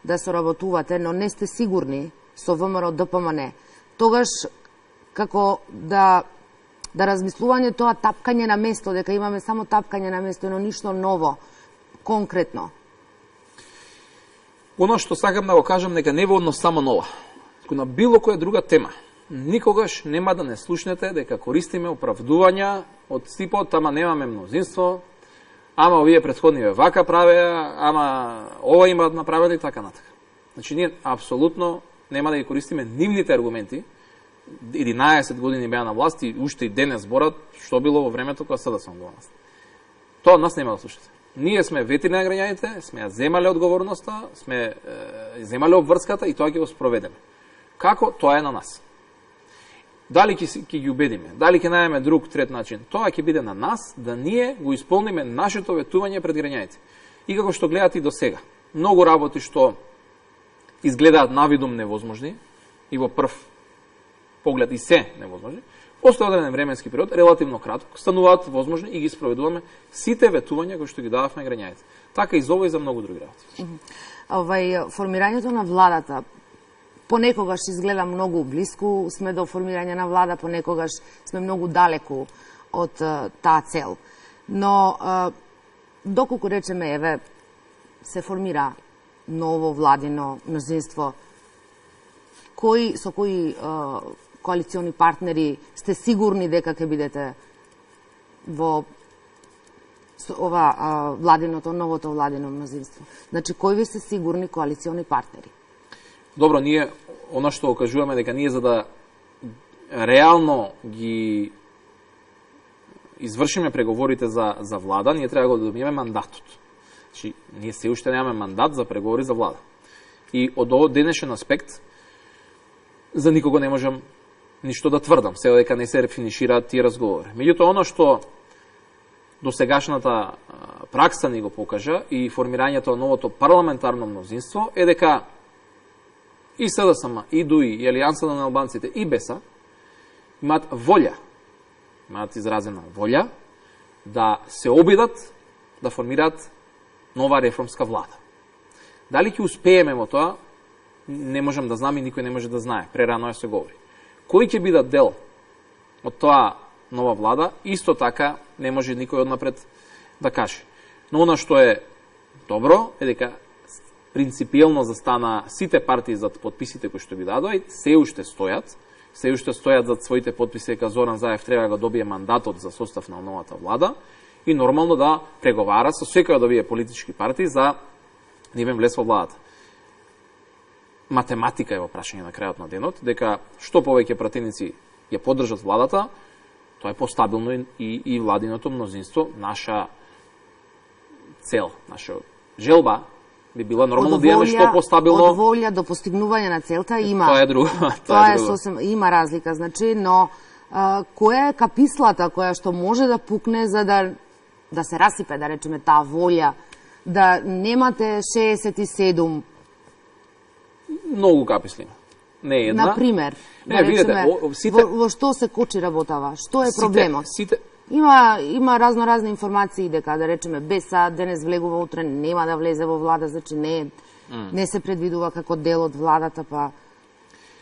да соработувате, но не сте сигурни со ВМРО Д П М Н, тогаш како да да размислување тоа тапкање на место, дека имаме само тапкање на место, но ништо ново, конкретно. Оно што сакам да го кажам, нека не во однос само нова, туку на било која друга тема. Никогаш нема да не слушнете дека користиме оправдувања од типот, ама немаме мнозинство, ама овие претходниве вака правеа, ама ова имаат направено и така натака. Значи, ние апсолутно нема да ги користиме нивните аргументи. единаесет години беа на власт и уште и денес зборат што било во времето кога СДСМ во власт. Тоа нас нема да слушате. Ние сме ветери на граѓаните, сме ја земале одговорноста, сме е, земале обврската и тоа ќе го спроведеме. Како? Тоа е на нас. Дали ќе ги убедиме, дали ќе најдеме друг трет начин, тоа ќе биде на нас да ние го исполниме нашето ветување пред граѓаните. И како што гледате и до сега, многу работи што изгледаат навидум невозможни и во прв поглед и се невозможни, после одреден временски период, релативно кратко, стануваат возможни и ги спроведуваме сите ветувања кои што ги дававме граѓаните. Така и за ова и за многу други работи. Овај формирањето на владата понекогаш изгледа многу блиску, сме до формирање на влада, понекогаш сме многу далеку од таа цел. Но доколку речеме еве се формира ново владино мнозинство, кои со кои коалициони партнери сте сигурни дека ќе бидете во ова а, владиното, новото владино мнозинство? Значи, кои ви се сигурни коалициони партнери? Добро, ние, оно што окажуваме дека ние за да реално ги извршиме преговорите за, за влада, ние треба да добиеме мандатот. Значи, ние се уште немаме мандат за преговори за влада. И од овој денешен аспект, за никого не можам ништо да тврдам, се дека не се рефинишираат тие разговори. Меѓутоа, оно што досегашната пракса ни го покажа и формирањето на новото парламентарно мнозинство е дека и СДСМ, и ДУИ, и Алијансата на албанците, и БЕСА имаат волја, имаат изразена волја да се обидат да формираат нова реформска влада. Дали ќе успееме во тоа, не можам да знам и никој не може да знае. Прерано е се говори. Кој ќе бидат дел од тоа нова влада, исто така не може никој однапред да каже. Но она што е добро е дека принципиелно застана сите партии зад подписите кои што би дадоа и се уште стојат, се уште стојат зад своите подписи дека Зоран Заев треба да го добие мандатот за состав на новата влада и нормално да преговара со секоја од овие политички партии за да им влез во владата. Математика е во прашање на крајот на денот, дека што повеќе пратеници ја поддржат владата, тоа е постабилно и, и владиното мнозинство. Наша цел, наша желба би била нормално да имаме што постабилно. Од волја до постигнување на целта има. Тоа е друго. Тоа, тоа е сосем, има разлика, значи, но а, која е капислата која што може да пукне за да да се расипе, да речеме, таа волја, да немате шеесет и седум? Многу каписли. Не е една. Например, не, да видите, речеме, о, сите... во, во што се кочи работава? Што е проблемот? Сите, сите... Има, има разно разни информации дека, да речеме, БЕСА денес влегува, утре нема да влезе во влада, значи не, mm. не се предвидува како дел од владата, па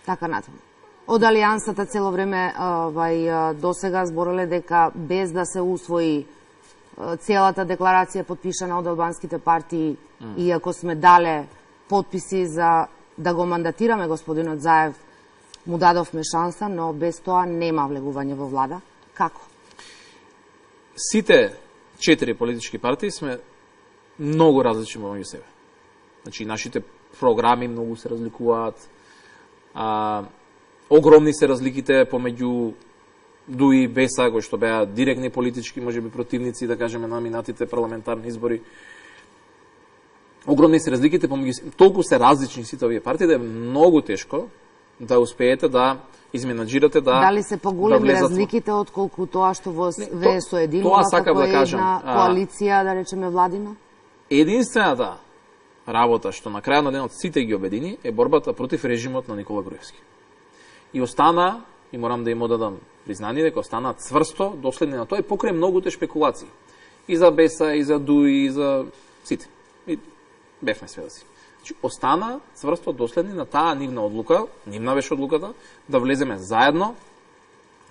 така натаму. Од Алијансата цело време овај досега збореле дека без да се усвои целата декларација подпишана од албанските партии, mm. иако сме дале подписи за да го мандатираме господинот Заев, му дадовме шанса, но без тоа нема влегување во влада. Како? Сите четири политички партии сме многу различни меѓу себе. Значи, нашите програми многу се разликуваат, а, огромни се разликите помеѓу ДУИ и БЕСА, кои што беа директни политички, можеби противници, да кажеме, на минатите парламентарни избори. Огромни се разликите помеѓу, толку се различни сите овие партии да е многу тешко да успеете да изменаджирате да Дали се поголеми да разликите отколку тоа што во ве то, соединува како да кажам, една коалиција, да речеме, владина? Единствената работа што на крајот на денот сите ги обедини е борбата против режимот на Никола Груевски. И остана, и морам да им одадам признание, дека остана цврсто доследни на тоа и покрај многуте шпекулации. И за БЕСА, и за ДУИ, и за сите. И бевме сведоци. Значи, остана цврсто доследни на таа нивна одлука, нивна беше одлуката, да влеземе заедно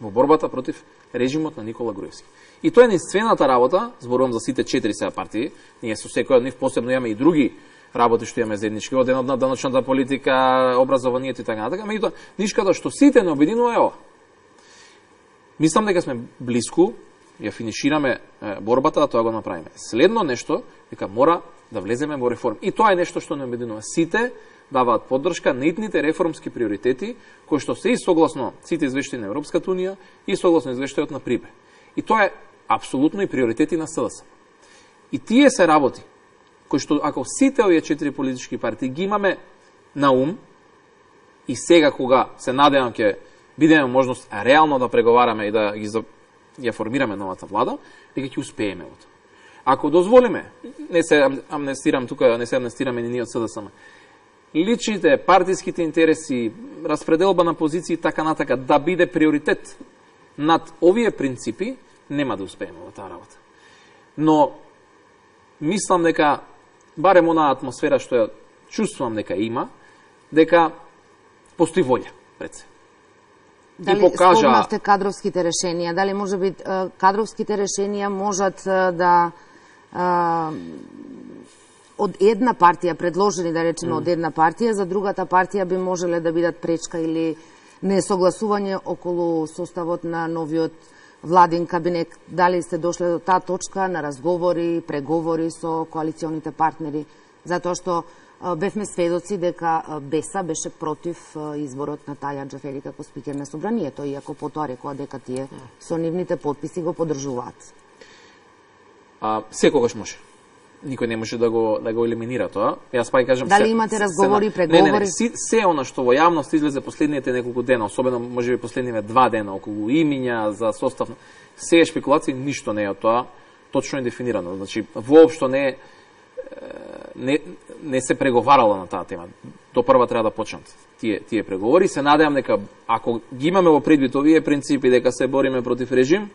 во борбата против режимот на Никола Груевски. И тоа е единствената работа, зборувам за сите четири сега партии, ние со секој од нив посебно имаме и други работи што имаме заеднички, од една од даночната политика, образованието и така натака, меѓутоа нишката што сите не обединува е ова. Мислам дека сме блиску, ја финишираме борбата да тоа го направиме. Следно нешто, дека мора да влеземе во реформи. И тоа е нешто што не обединува. Сите даваат поддршка на итните реформски приоритети, кои што се и согласно сите извештаи на Европската унија и согласно извештајот на ПРИБЕ. И тоа е апсолутно и приоритети на СДС. И тие се работи, кои што ако сите овие четири политички партии ги имаме на ум, и сега кога се надевам ќе бидеме можност реално да преговараме и да ги ја формираме новата влада, дека ќе успееме во тоа. Ако дозволиме, не се амнестирам тука, не се амнестираме ни ние од СДСМ, личните, партиските интереси, распределба на позиции и така натака, да биде приоритет над овие принципи, нема да успееме во таа работа. Но, мислам дека, барем онаа атмосфера што ја чувствувам дека има, дека постои волја пред се. Дали покажа... спомнавте кадровските решенија, дали може би кадровските решенија можат да а, од една партија, предложени да речеме mm. од една партија, за другата партија би можеле да бидат пречка или несогласување околу составот на новиот владин кабинет. Дали сте дошле до таа точка на разговори, преговори со коалиционите партнери? Затоа што бевме сведоци дека Беса беше против изборот на Талја Џафери како спикер на собранието, иако потоа рекоа дека тие со нивните потписи го поддржуваат. А, секогаш може. Никој не може да го да го елиминира тоа. Јас па кажам, дали се, имате разговори, се, преговори? Не, не, не, се, се она што во јавност излезе последните неколку дена, особено можеби последниве два дена околу имиња за состав, се е шпекулации, ништо не е од тоа точно е дефинирано. Значи воопшто не не не се преговарало на таа тема. До прва треба да почнат тие тие преговори. Се надевам дека ако ги имаме во предвид овие принципи дека се бориме против режим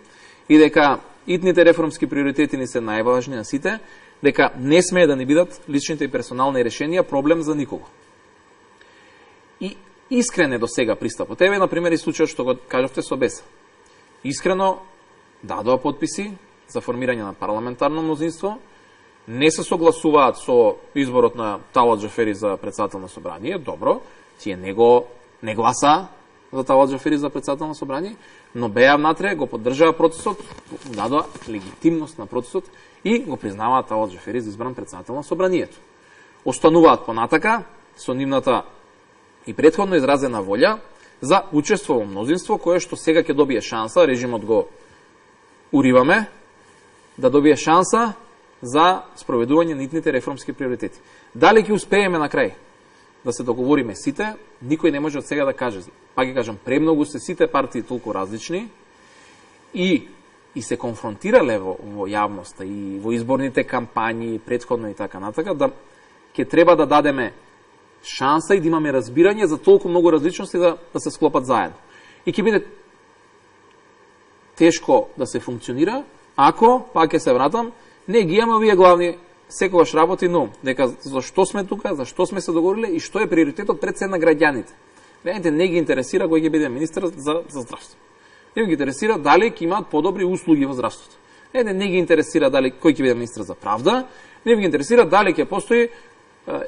и дека итните реформски приоритети ни се најважни на сите, дека не смее да ни бидат личните и персонални решенија проблем за никого. И искрене до сега пристапот. Еве, например, и случајот што го кажавте со Беса. Искрено дадоа потписи за формирање на парламентарно мнозинство, не се согласуваат со изборот на Талат Џафери за председател на собрание, добро, тие не го не гласа за Талат Џафери за председател на собрание, но беа внатре, го поддржаа процесот, дадоа легитимност на процесот и го признаваат Талат Џафери за избран председател на собранието. Остануваат понатака со нивната и претходно изразена волја за учество во мнозинство кое што сега ќе добие шанса, режимот го уриваме, да добие шанса за спроведување на итните реформски приоритети. Дали ќе успееме на крај да се договориме сите, никој не може од сега да каже. Па ќе кажам, премногу се сите партии толку различни и и се конфронтирале во, во јавноста и во изборните кампањи, претходно и така натака, да ќе треба да дадеме шанса и да имаме разбирање за толку многу различности да, да се склопат заедно. И ќе биде тешко да се функционира ако, пак ќе се вратам, не ги имаме овие главни секогаш работи, но дека зашто сме тука, зашто сме се договориле и што е приоритетот пред се на граѓаните. Граѓаните не ги интересира кој ќе биде министер за, за здравство. Не ги интересира дали ќе имаат подобри услуги во здравството. Не, не ги интересира дали кој ќе биде министер за правда, не ги интересира дали ќе постои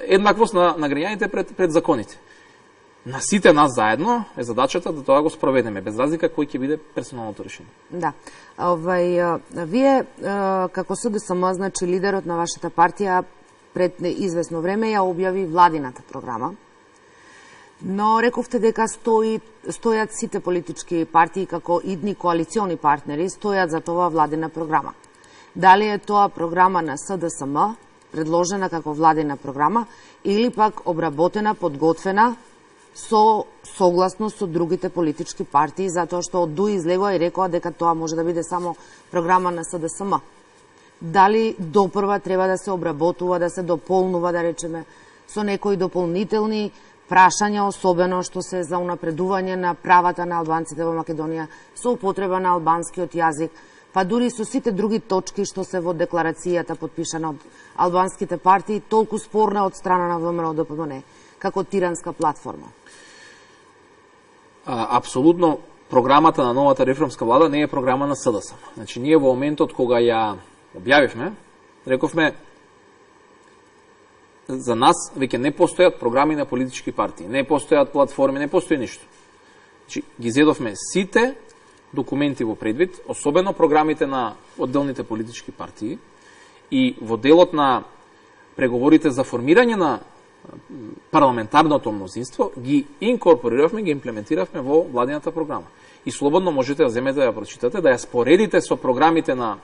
еднаквост на, на граѓаните пред, пред законите. На сите нас заедно е задачата да тоа го спроведеме, без разлика кој ќе биде персоналното решение. Да. Овај, вие, како СДСМ, значи лидерот на вашата партија, пред известно време ја објави владината програма, но рековте дека стои, стојат сите политички партии како идни коалициони партнери, стојат за тоа владина програма. Дали е тоа програма на СДСМ, предложена како владина програма, или пак обработена, подготвена, со согласно со другите политички партии, затоа што од ДУ излегоа и рекоа дека тоа може да биде само програма на СДСМ. Дали допрва треба да се обработува, да се дополнува, да речеме, со некои дополнителни прашања, особено што се за унапредување на правата на албанците во Македонија, со употреба на албанскиот јазик, па дури со сите други точки што се во декларацијата подпишана од албанските партии, толку спорна од страна на ВМРО Д П М Н како тиранска платформа. А, апсолутно, програмата на новата реформска влада не е програма на СДСМ. Значи, ние во моментот кога ја објавивме, рековме, за нас веќе не постојат програми на политички партии, не постојат платформи, не постои ништо. Значи, ги зедовме сите документи во предвид, особено програмите на одделните политички партии и во делот на преговорите за формирање на парламентарното мнозинство, ги инкорпориравме, ги имплементиравме во владината програма. И слободно можете да земете да ја прочитате, да ја споредите со програмите на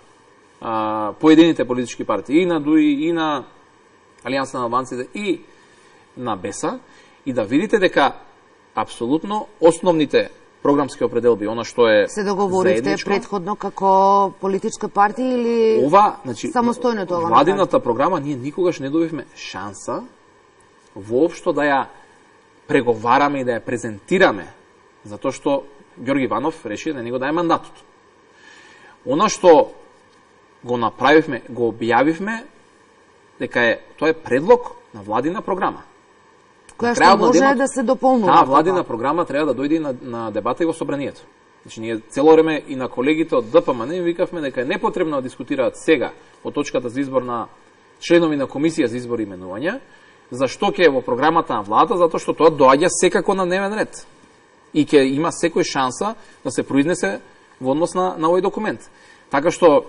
а, поедините политички партии, и на ДУИ, и на Алијанса на албанците, и на Беса, и да видите дека апсолутно основните програмски определби, она што е се договоривте заедничко, предходно како политичка партија или ова, значи, самостојно тоа? Владината програма ние никогаш не добивме шанса воопшто да ја преговараме и да ја презентираме, затоа што Ѓорги Иванов реши да не го даде мандатот. Она што го направивме, го објавивме, дека е, тоа е предлог на владина програма. Која што може денот, да се дополнува. Таа владина програма треба да дојде на, на дебата и во собранието. Значи, ние цело време и на колегите од Д П М Н им викавме дека е непотребно да дискутираат сега по точката за избор на членови на комисија за избор и именувања, зашто ќе е во програмата на владата, затоа што тоа доаѓа секако на дневен ред. И ќе има секој шанса да се произнесе во однос на, на овој документ. Така што,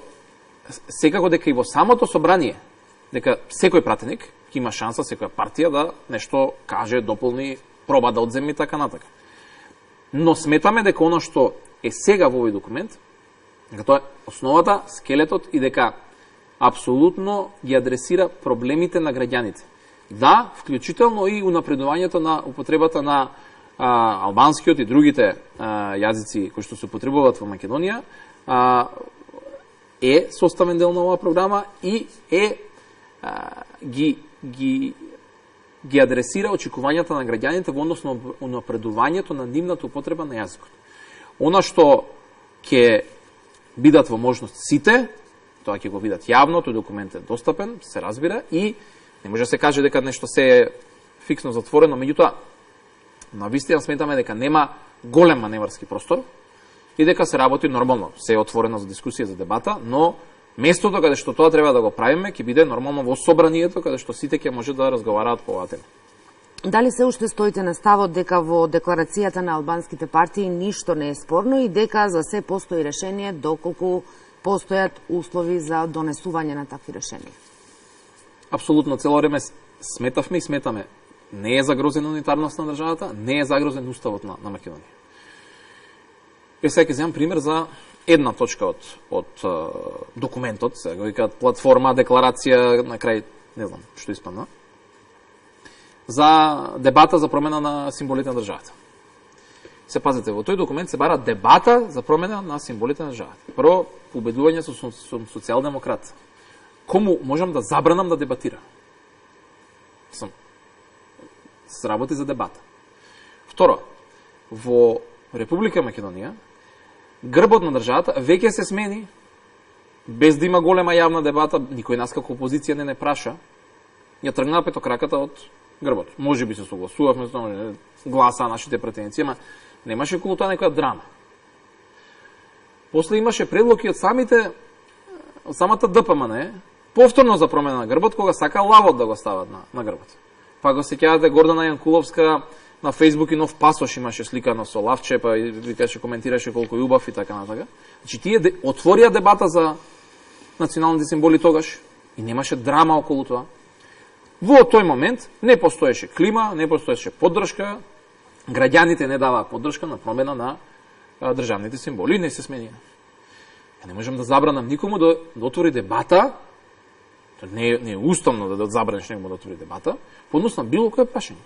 секако дека и во самото собрание, дека секој пратеник ќе има шанса секоја партија да нешто каже, дополни, проба да одземе и така натака. Но сметаме дека оно што е сега во овој документ, дека тоа е основата, скелетот и дека апсолутно ги адресира проблемите на граѓаните. Да, вклучително и унапредувањето на употребата на а, албанскиот и другите а, јазици кои што се употребуваат во Македонија, а, е составен дел на оваа програма и е а, ги, ги, ги адресира очекувањата на граѓаните во однос на унапредувањето на нивната употреба на јазикот. Она што ќе бидат во можност сите, тоа ќе го видат јавно, тој документ е достапен, се разбира, и не може да се каже дека нешто се е фиксно затворено, меѓутоа, на вистина сметаме дека нема голем маневарски простор и дека се работи нормално, се е отворено за дискусија, за дебата, но местото каде што тоа треба да го правиме ќе биде нормално во собранието, каде што сите ќе може да разговараат по оваа тема. Дали се уште стоите на ставот дека во декларацијата на албанските партии ништо не е спорно и дека за се постои решение доколку постојат услови за донесување на такви решенија? Апсолутно, цело време сметавме и сметаме. Не е загрозена унитарност на државата, не е загрозен уставот на, на Македонија. Е, сега ќе земам пример за една точка од, од документот, сега го викаат платформа, декларација, на крај, не знам што испадна, за дебата за промена на символите на државата. Се пазите, во тој документ се бара дебата за промена на символите на државата. Прво, убедување со, со, со социјалдемократ. Кому можам да забранам да дебатира? Сам се работи за дебата. Второ, во Република Македонија, грбот на државата веќе се смени, без да има голема јавна дебата, никој нас како опозиција не не праша, ја тргна петокраката од грбот. Може би се согласувавме, гласа нашите претенции, ама немаше околу тоа некоја драма. После имаше предлоги од самите, од самата ДПМН, повторно за промена на грбот, кога сака лавот да го стават на, на грбот. Па го сеќавате Гордана Јанкуловска на Фејсбук и нов пасош имаше сликано со лавче, па и викаше, коментираше колку е убав и така натака. Значи тие де, отворија дебата за националните символи тогаш и немаше драма околу тоа. Во тој момент не постоеше клима, не постоеше поддршка, граѓаните не даваа поддршка на промена на а, државните символи, не се сменија. Ја не можам да забранам никому да, да отвори дебата, не е, не е уставно да, да забраниш некому да отвори дебата, по однос на било кое прашање.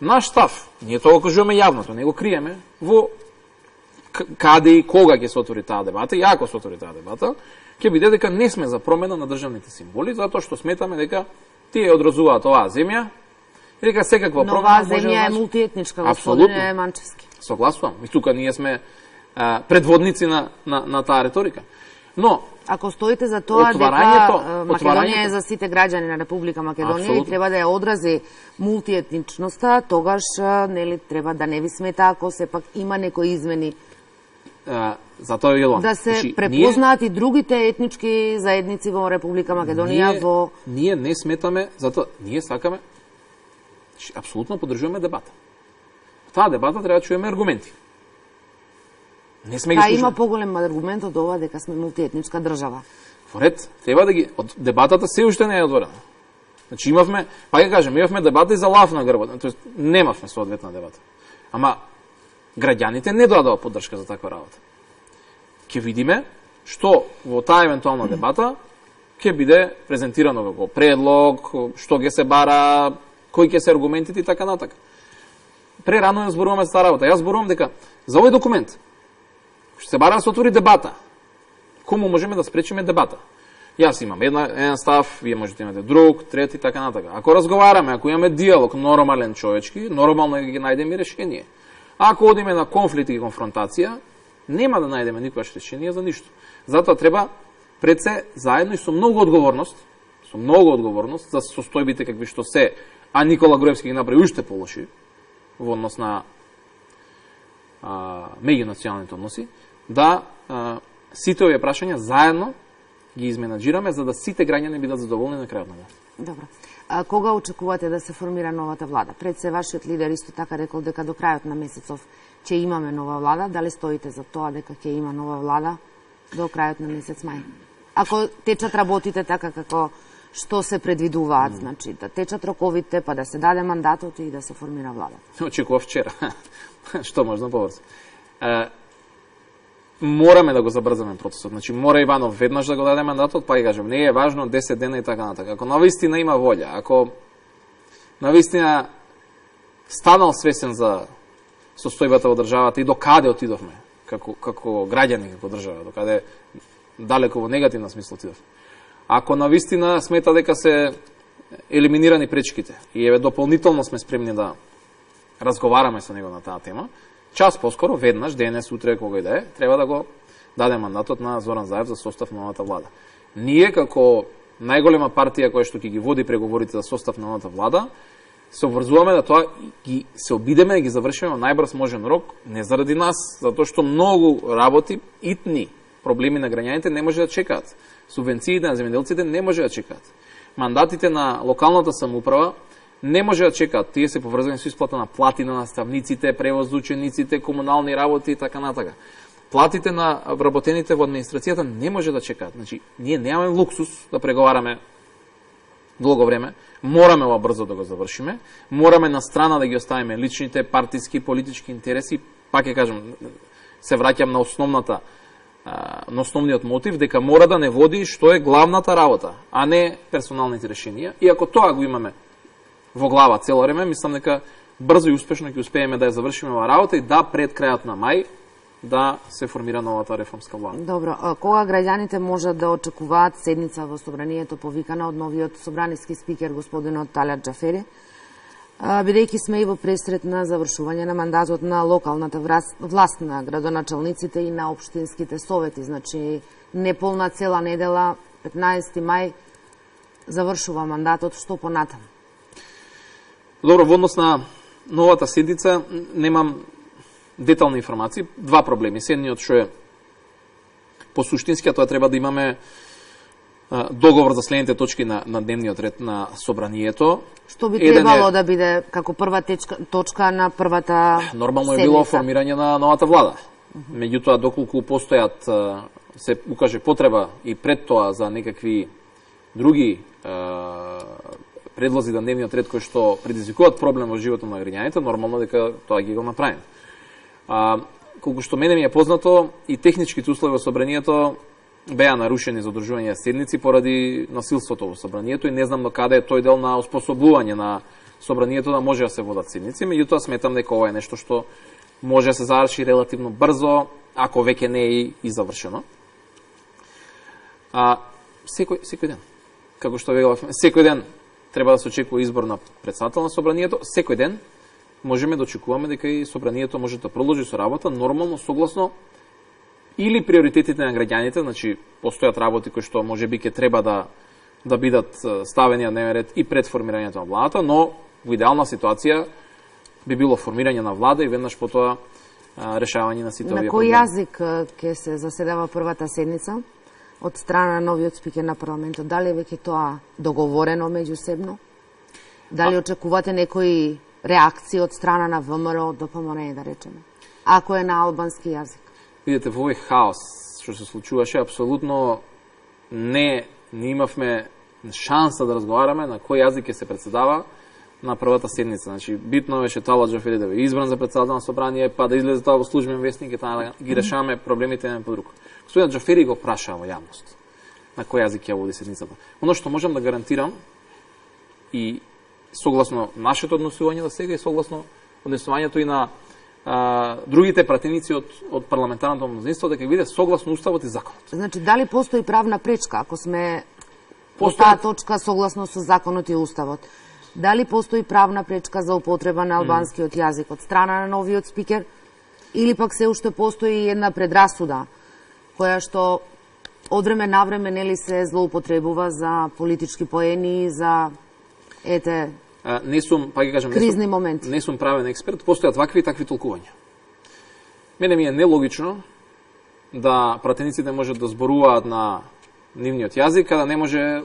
Наш став, ние тоа го кажуваме јавно, не го криеме, во каде и кога ќе се отвори таа дебата, и ако се отвори таа дебата, ќе биде дека не сме за промена на државните символи, затоа што сметаме дека тие одразуваат оваа земја, и дека секаква но промена може да... Но оваа земја е мултиетничка, господине Манчевски. Согласувам. И тука ние сме а, предводници на, на, на таа реторика. Но, ако стоите за тоа дека Македонија е за сите граѓани на Република Македонија Абсолютно. И треба да ја одрази мултиетничноста, тогаш нели треба да не ви смета ако сепак има некои измени. А, затоа е Јелон. Да се Значи, препознаат ние... и другите етнички заедници во Република Македонија ние, во ние не сметаме, затоа ние сакаме апсолутно поддржуваме дебата. Таа дебата треба да чуеме аргументи. Не сме ги слушали. Има поголем аргумент од ова дека сме мултиетничка држава. Во ред, треба да ги од дебатата се уште не е отворена. Значи имавме, па ќе кажем, имавме дебата и за лав на грбот, тоест немавме соодветна дебата. Ама граѓаните не дадоа поддршка за таква работа. Ќе видиме што во таа евентуална дебата ќе биде презентирано како предлог, што ќе се бара, кои ќе се аргументите и така натака. Прерано ја зборуваме за таа работа. Јас зборувам дека за овој документ што се бара да се отвори дебата, кому можеме да спречиме дебата? Јас имам една, еден став, вие можете имате друг, трет и така натака. Ако разговараме, ако имаме диалог нормален човечки, нормално ги најдеме решение. Ако одиме на конфликт и конфронтација, нема да најдеме никогаш решение за ништо. Затоа треба пред се заедно и со многу одговорност, со многу одговорност за состојбите какви што се, а Никола Груевски ги направи уште полоши во однос на меѓунационалните односи, да а, сите овие прашања заедно ги изменаџираме за да сите граѓани бидат задоволни на крајот на денот. Добро. А кога очекувате да се формира новата влада? Пред се вашиот лидер исто така рекол дека до крајот на месецов ќе имаме нова влада. Дали стоите за тоа дека ќе има нова влада до крајот на месец мај? Ако течат работите така како што се предвидуваат, mm. значи да течат роковите, па да се даде мандатот и да се формира влада. Очекував вчера. Што можно побрзо. Мораме да го забрзаме процесот. Значи мора Иванов веднаш да го даде мандатот, па и кажем, не е важно десет дена и така натака. Ако навистина има волја, ако навистина станал свесен за состојбата во државата и до каде отидовме како како граѓани, како држава, до каде далеко во негативна смисла отидовме. Ако навистина смета дека се елиминирани пречките и еве дополнително сме спремни да разговараме со него на таа тема, час поскоро, веднаш, денес, утре, кога и да е, треба да го даде мандатот на Зоран Заев за состав на новата влада. Ние, како најголема партија која што ќе ги води преговорите за состав на новата влада, се обврзуваме да тоа ги се обидеме да ги завршиме во најбрз можен рок, не заради нас, затоа што многу работи, итни проблеми на граѓаните не може да чекаат. Субвенциите на земјоделците не може да чекаат. Мандатите на локалната самоуправа не може да чекаат. Тие се поврзани со исплата на плати на наставниците, превоз за учениците, комунални работи и така натака. Платите на вработените во администрацијата не може да чекаат. Значи, ние немаме луксус да преговараме долго време. Мораме ова брзо да го завршиме. Мораме на страна да ги оставиме личните партиски, политички интереси. Пак ќе кажам, се враќам на основната на основниот мотив, дека мора да не води што е главната работа, а не персоналните решенија. И ако тоа го имаме во глава цело време, мислам дека брзо и успешно ќе успееме да ја завршиме оваа работа и да пред крајот на мај да се формира новата реформска влада. Добро, кога граѓаните можат да очекуваат седница во собранието повикана од новиот собраниски спикер господинот Талат Џафери, бидејќи сме и во пресред на завршување на мандатот на локалната власт на градоначалниците и на општинските совети, значи неполна цела недела, петнаесети мај, завршува мандатот, што понатаму? Добро, во однос на новата седница немам детални информации. Два проблеми. Едниот што е по суштински, тоа треба да имаме а, договор за следните точки на, на дневниот ред на собранието. Што би требало е, да биде како прва течка, точка на првата нормално седница? Е било формирање на новата влада. Uh -huh. Меѓутоа, доколку постојат, се укаже потреба и пред тоа за некакви други а, предлози на дневниот ред кои што предизвикуваат проблем во животот на граѓаните, нормално дека тоа ги го направиме. А, колку што мене ми е познато, и техничките услови во собранието беа нарушени за одржување седници поради насилството во собранието и не знам до каде е тој дел на оспособување на собранието да може да се водат седници, меѓутоа сметам дека ова е нешто што може да се заврши релативно брзо, ако веќе не е и, и завршено. А, секој, секој ден, како што веќе секој ден треба да се очекува избор на претседател на собранието, секој ден можеме да очекуваме дека и собранието може да продолжи со работа нормално согласно или приоритетите на граѓаните, значи постојат работи кои што можеби ќе треба да да бидат ставени на дневен ред и пред формирањето на владата, но во идеална ситуација би било формирање на влада и веднаш потоа решавање на сите овие проблеми. На кој јазик ќе се заседава првата седница од страна на новиот спикер на парламентот? Дали веќе тоа договорено меѓусебно? Дали а... очекувате некои реакции од страна на ВМРО, Д П М Н, да речеме, ако е на албански јазик? Видите, во овој хаос што се случуваше, апсолутно не, не имавме шанса да разговараме на кој јазик ќе се председава на првата седница. Значи, битно беше Талат Џафери да биде избран за председател на собрание, па да излезе тоа во службен вестник и таа ги решаваме проблемите еден по друг. Господинот Џафери го прашаа во јавност на кој јазик ќе води седницата. Оно што можам да гарантирам и согласно нашето однесување до сега и согласно однесувањето и на а, другите пратеници од, од парламентарното мнозинство, дека биде согласно уставот и законот. Значи, дали постои правна пречка, ако сме по таа точка согласно со законот и уставот? Дали постои правна пречка за употреба на албанскиот јазик од страна на новиот спикер? Или пак се уште постои една предрасуда, која што од време на време нели се злоупотребува за политички поени, за ете а, не сум, па ги кажам, кризни не сум, моменти. Не сум правен експерт, постојат вакви и такви толкувања. Мене ми е нелогично да пратениците можат да зборуваат на нивниот јазик, а да не може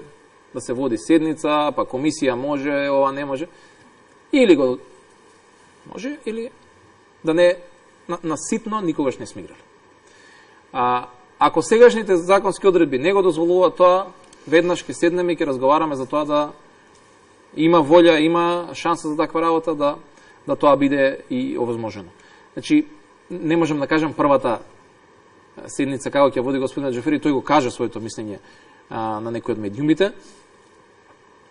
да се води седница, па комисија може, ова не може. Или го може, или да не на, на ситно никогаш не сме играли. А, ако сегашните законски одредби не го дозволуваат тоа, веднаш ќе седнеме и ќе разговараме за тоа да има волја, има шанса за таква работа, да, да тоа биде и овозможено. Значи, не можам да кажам првата седница како ќе води господин Џафери, тој го кажа своето мислење а, на некој од медиумите.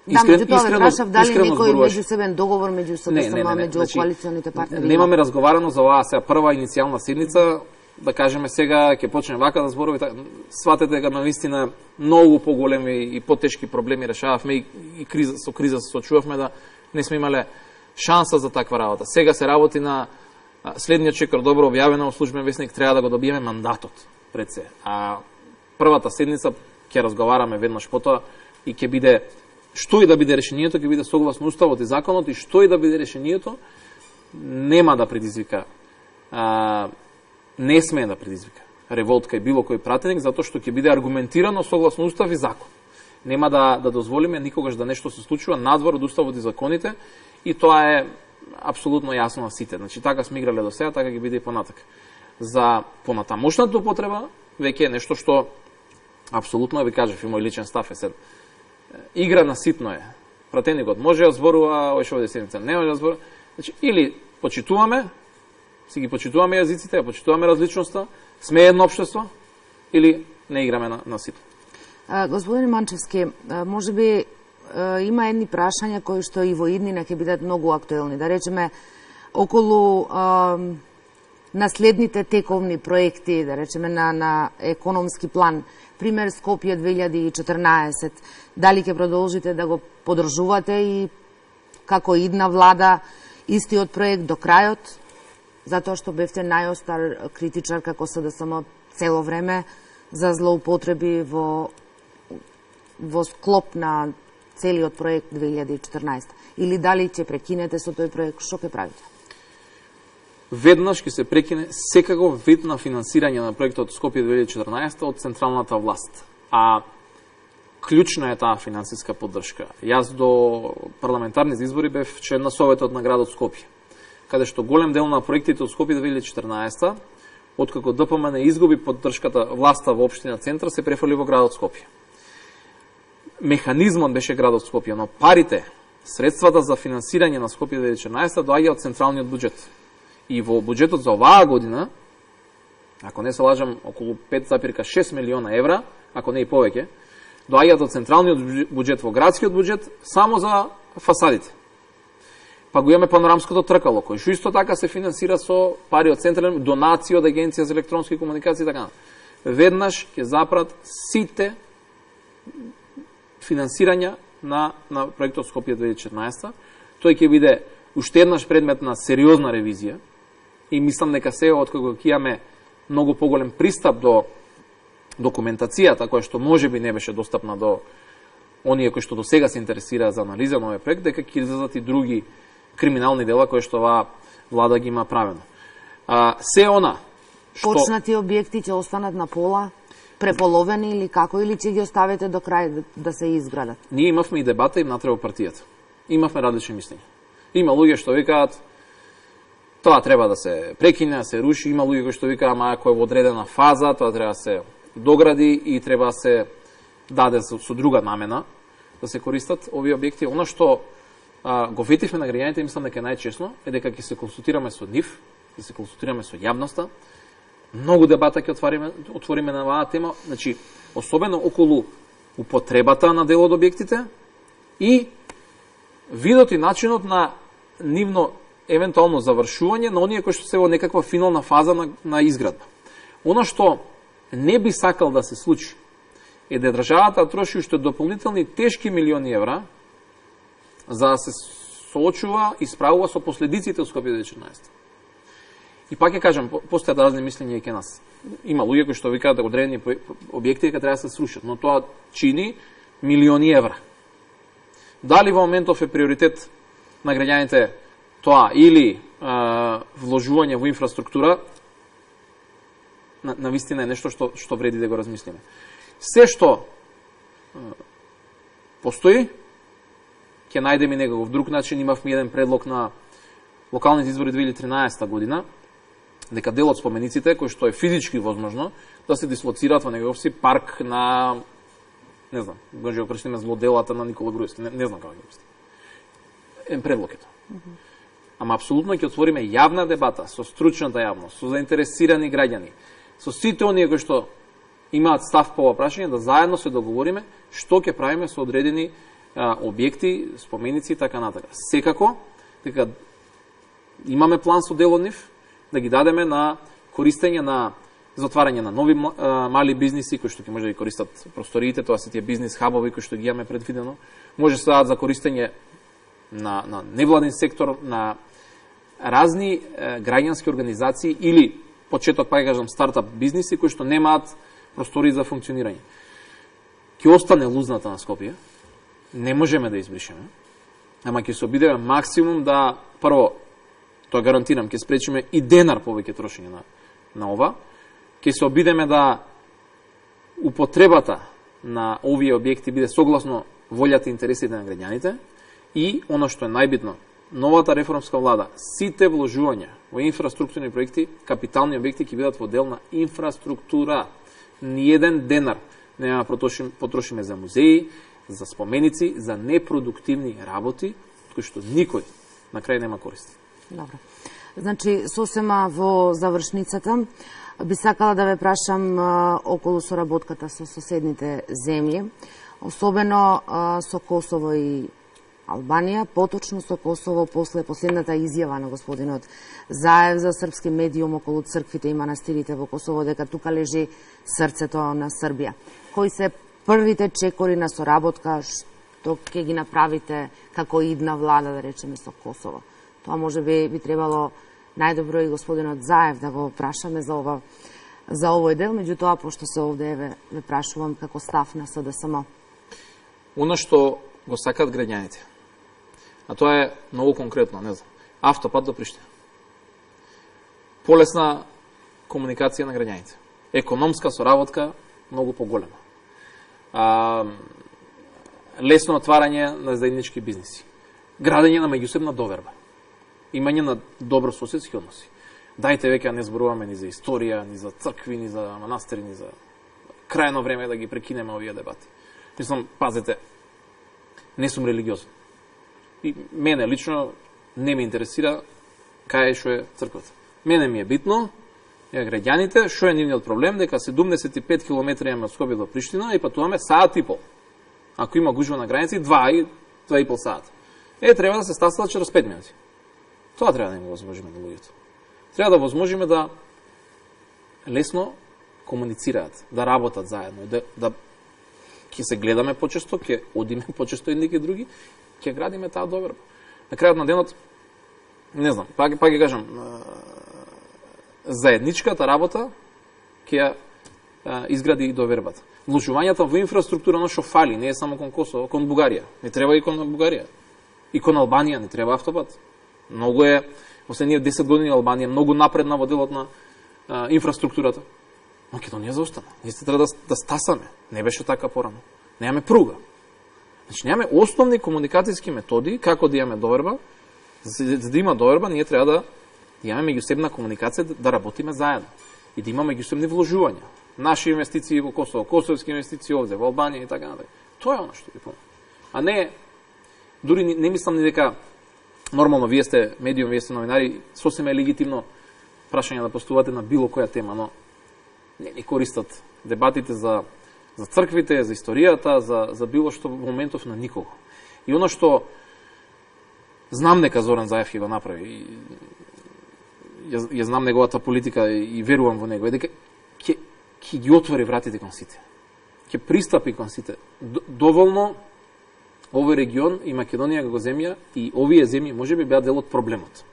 Да, меѓу тоа ве прашав дали некој меѓусебен договор меѓу СДСМ, меѓу значи, коалиционите партнери. Немаме разговарано за оваа сега прва иницијална седница, да кажеме сега ќе почне вака да зборуваме, сватете дека навистина многу поголеми и потешки проблеми решававме и, и криза, со криза се сочувавме да не сме имале шанса за таква работа. Сега се работи на следниот чекор, добро објавено во службен весник, треба да го добиеме мандатот пред се. А првата седница ќе разговараме веднаш потоа и ќе биде што и да биде решението, ќе биде согласно уставот и законот, и што и да биде решението нема да предизвика а, не смее да предизвика револт кај било кој пратеник, затоа што ќе биде аргументирано согласно устав и закон. Нема да, да дозволиме никогаш да нешто се случува надвор од уставот и законите, и тоа е апсолутно јасно на сите. Значи, така сме играле до сега, така ќе биде и понатак. За понатамошната употреба, веќе е нешто што апсолутно, ви кажав, и мој личен став е сед. Игра на ситно е. Пратеникот може да зборува, овој овде седница не може да зборува. Значи, или почитуваме, си ги почитуваме јазиците, почитуваме различноста, сме едно општество, или не играме на, на ситно. А, господин Манчевски, може би има едни прашања кои што и во иднина ќе бидат многу актуелни. Да речеме, околу а, наследните тековни проекти, да речеме на, на економски план, пример Скопје две илјади и четрнаесет, дали ќе продолжите да го подржувате и како идна влада истиот проект до крајот, затоа што бевте најостар критичар како СДСМ цело време за злоупотреби во, во склоп на целиот проект две илјади и четрнаесета, или дали ќе прекинете со тој проект, што ќе правите? Веднаш ќе се прекине секаков вид на финансирање на проектот Скопје две илјади и четрнаесета од централната власт. А клучна е таа финансиска поддршка. Јас до парламентарните избори бев член на Советот на градот Скопје, каде што голем дел на проектите од Скопје две илјади и четрнаесета, откако ДПМН изгуби поддршката власта во општина Центар, се префрли во градот Скопје. Механизмот беше градот Скопје, но парите, средствата за финансирање на Скопје две илјади и четрнаесета доаѓа од централниот буџет. И во буџетот за оваа година, ако не се лажам, околу пет запирка шест милиона евра, ако не и повеќе, доаѓаат од централниот буџет во градскиот буџет само за фасадите. Па го имаме панорамското тркало, кој што исто така се финансира со пари од централен, донации од Агенција за електронски комуникации и така. Веднаш ќе запрат сите финансирања на, на проектот Скопје две илјади и четрнаесета. Тој ќе биде уште еднаш предмет на сериозна ревизија и мислам дека сега, откако ќе имаме многу поголем пристап до документацијата, која што можеби не беше достапна до оние кои што до сега се интересира за анализа на овој проект, дека ќе излезат и други криминални дела кои што оваа влада ги има правено. А, се она што... Почнати објекти ќе останат на пола, преполовени или како, или ќе ги оставите до крај да, да се изградат? Ние имавме и дебата и внатре во партијата. Имавме различни мислења. Има луѓе што викаат тоа треба да се прекине, да се руши, има луѓе кои што викаат ама ако е во одредена фаза, тоа треба да се догради и треба да се даде со, со друга намена да се користат овие објекти. Она што а, го ветивме на граѓаните, мислам дека најчесно е дека ќе се консултираме со нив, ќе се консултираме со јавноста. Многу дебата ќе отвориме, отвориме на оваа тема, значи особено околу употребата на дел од објектите и видот и начинот на нивно евентуално завршување на оние кои што се во некаква финална фаза на, на изградба. Оно што не би сакал да се случи е да државата троши уште дополнителни тешки милиони евра за да се соочува и справува со последиците од Скопје две илјади и четрнаесета. И пак ќе кажам, постојат разни мислења и ке нас. Има луѓе кои што викаат дека одредени објекти дека треба да се срушат, но тоа чини милиони евра. Дали во моментов е приоритет на граѓаните тоа или е, вложување во инфраструктура, на, на вистина е нешто што, што вреди да го размислиме. Се што е, постои, ќе најдеме некаков друг начин. Имавме еден предлог на локалните избори две илјади и тринаесета година, дека дел од спомениците, кој што е физички возможно, да се дислоцираат во некаков си парк на не знам, може го прочитаме злоделата на Никола Груевски, не, не знам како ќе обясним. Е предлог е тоа. Mm -hmm. Ама апсолутно ќе отвориме јавна дебата со стручната јавност, со заинтересирани граѓани, со сите оние кои што имаат став по ова прашање, да заедно се договориме што ќе правиме со одредени а, објекти, споменици и така натака. Секако, дека имаме план со дел од нив, да ги дадеме на користење на затварање на нови а, мали бизниси кои што ќе може да ги користат просториите, тоа се тие бизнис хабови кои што ги имаме предвидено. Може се дадат за користење на, на невладин сектор, на разни е, граѓански организации или почеток, па кажам, стартап бизниси кои што немаат простори за функционирање. Ќе остане лузната на Скопје, не можеме да избришеме, ама ќе се обидеме максимум да, прво, тоа гарантирам, ќе спречиме и денар повеќе трошење на, на ова, ќе се обидеме да употребата на овие објекти биде согласно волјата и интересите на граѓаните и, оно што е најбитно, новата реформска влада, сите вложувања во инфраструктурни проекти, капитални објекти ќе бидат во дел на инфраструктура. Ниеден денар нема потрошиме, потрошиме за музеи, за споменици, за непродуктивни работи, кои што никој на крај нема користи. Добро. Значи, сосема во завршницата, би сакала да ве прашам а, околу соработката со соседните земји, особено а, со Косово и Албанија, поточно со Косово после последната изјава на господинот Заев за српски медиум околу црквите и манастирите во Косово, дека тука лежи срцето на Србија. Кои се првите чекори на соработка што ќе ги направите како идна влада, да речеме, со Косово? Тоа може би би требало најдобро и господинот Заев да го прашаме за ова за овој дел, меѓутоа пошто се овде ве, ве прашувам како став на СДСМ. Оно што го сакаат граѓаните, а тоа е многу конкретно, не знам, автопат до Приштина. Полесна комуникација на граѓаните. Економска соработка многу поголема. А, лесно отварање на заеднички бизниси. Градење на меѓусебна доверба. Имање на добро соседски односи. Дајте веќе не зборуваме ни за историја, ни за цркви, ни за манастири, ни за крајно време да ги прекинеме овие дебати. Мислам, пазете, не сум религиозен. И мене лично не ме интересира кај што е црквата. Мене ми е битно, е граѓаните, што е нивниот проблем, дека седумдесет и пет километри имаме од Скопје до Приштина и патуваме саат и пол. Ако има гужва на граници, два и два и пол саат. Е, треба да се стасат через пет минути. Тоа треба да им го возможиме на луѓето. Треба да возможиме да лесно комуницираат, да работат заедно, да, да ќе се гледаме почесто, ќе одиме почесто едни кај други, ќе градиме таа доверба. На крајот на денот, не знам, пак, пак ќе кажам, заедничката работа ќе ја изгради и довербата. Вложувањата во инфраструктура на што фали, не е само кон Косово, кон Бугарија. Не треба и кон Бугарија. И кон Албанија не треба автопат. Многу е, последниве десет години Албанија многу напредна во делот на а, инфраструктурата. Македонија заостана. Ние треба да, да стасаме. Не беше така порано. Немаме пруга. Значи, немаме основни комуникацијски методи како да имаме доверба. За, за да има доверба, ние треба да имаме меѓусебна комуникација, да, да работиме заедно. И да имаме меѓусебни вложувања. Наши инвестиции во Косово, косовски инвестиции овде, во Албанија и така натаму. Тоа е оно што ви помага. А не, дури не, не мислам ни дека нормално, вие сте медиум, вие сте новинари, сосем е легитимно прашање да постувате на било која тема, но не ни користат дебатите за, за црквите, за историјата, за, за било што во моментов на никого. И оно што знам дека Зоран Заев ќе го направи, и, ја, ја знам неговата политика и, и верувам во него, е дека ќе, ќе ги отвори вратите кон сите. Ќе пристапи кон сите. Доволно овој регион и Македонија како земја и овие земји може би беа дел од проблемот.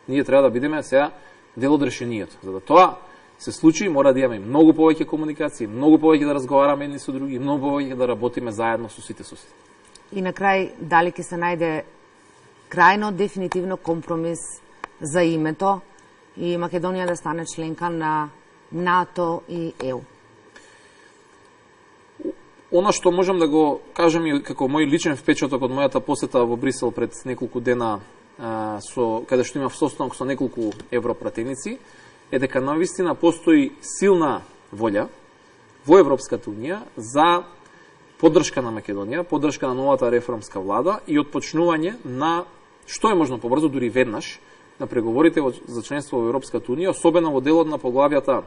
Ние треба да бидеме сега дел од решението. За да тоа се случи, мора да имаме многу повеќе комуникација, многу повеќе да разговараме едни со други, многу повеќе да работиме заедно со сите соседи. И на крај, дали ќе се најде крајно дефинитивно компромис за името и Македонија да стане членка на НАТО и Е У? Оно што можам да го кажам и како мој личен впечаток од мојата посета во Брисел пред неколку дена, а, со, каде што имав состанок со неколку европратеници, е дека навистина постои силна волја во Европската Унија за поддршка на Македонија, поддршка на новата реформска влада и отпочнување на што е можно побрзо, дури веднаш, на преговорите за членство во Европската унија, особено во делот на поглавјата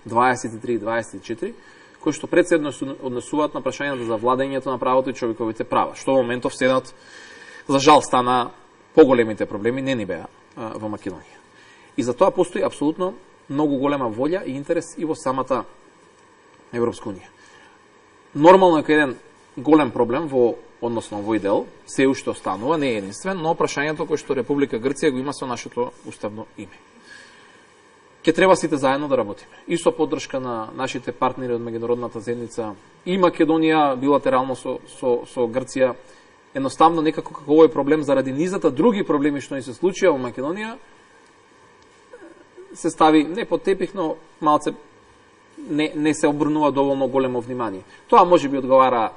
дваесет и три и дваесет и четири, кои што пред се однесуваат на прашањата за владењето на правото и човековите права, што во моментов седат, за жал, стана поголемите проблеми, не ни беа во Македонија. И за тоа постои апсолутно многу голема волја и интерес и во самата Европска унија. Нормално е кај еден голем проблем во односно овој дел, се уште останува, не е единствен, но прашањето кој што Република Грција го има со нашето уставно име. Ке треба сите заедно да работиме. И со поддршка на нашите партнери од меѓународната заедница и Македонија билатерално со, со, со Грција, едноставно некако како овој проблем заради низата други проблеми што ни се случија во Македонија, се стави не под тепих, но малце не, не се обрнува доволно големо внимание. Тоа може би одговара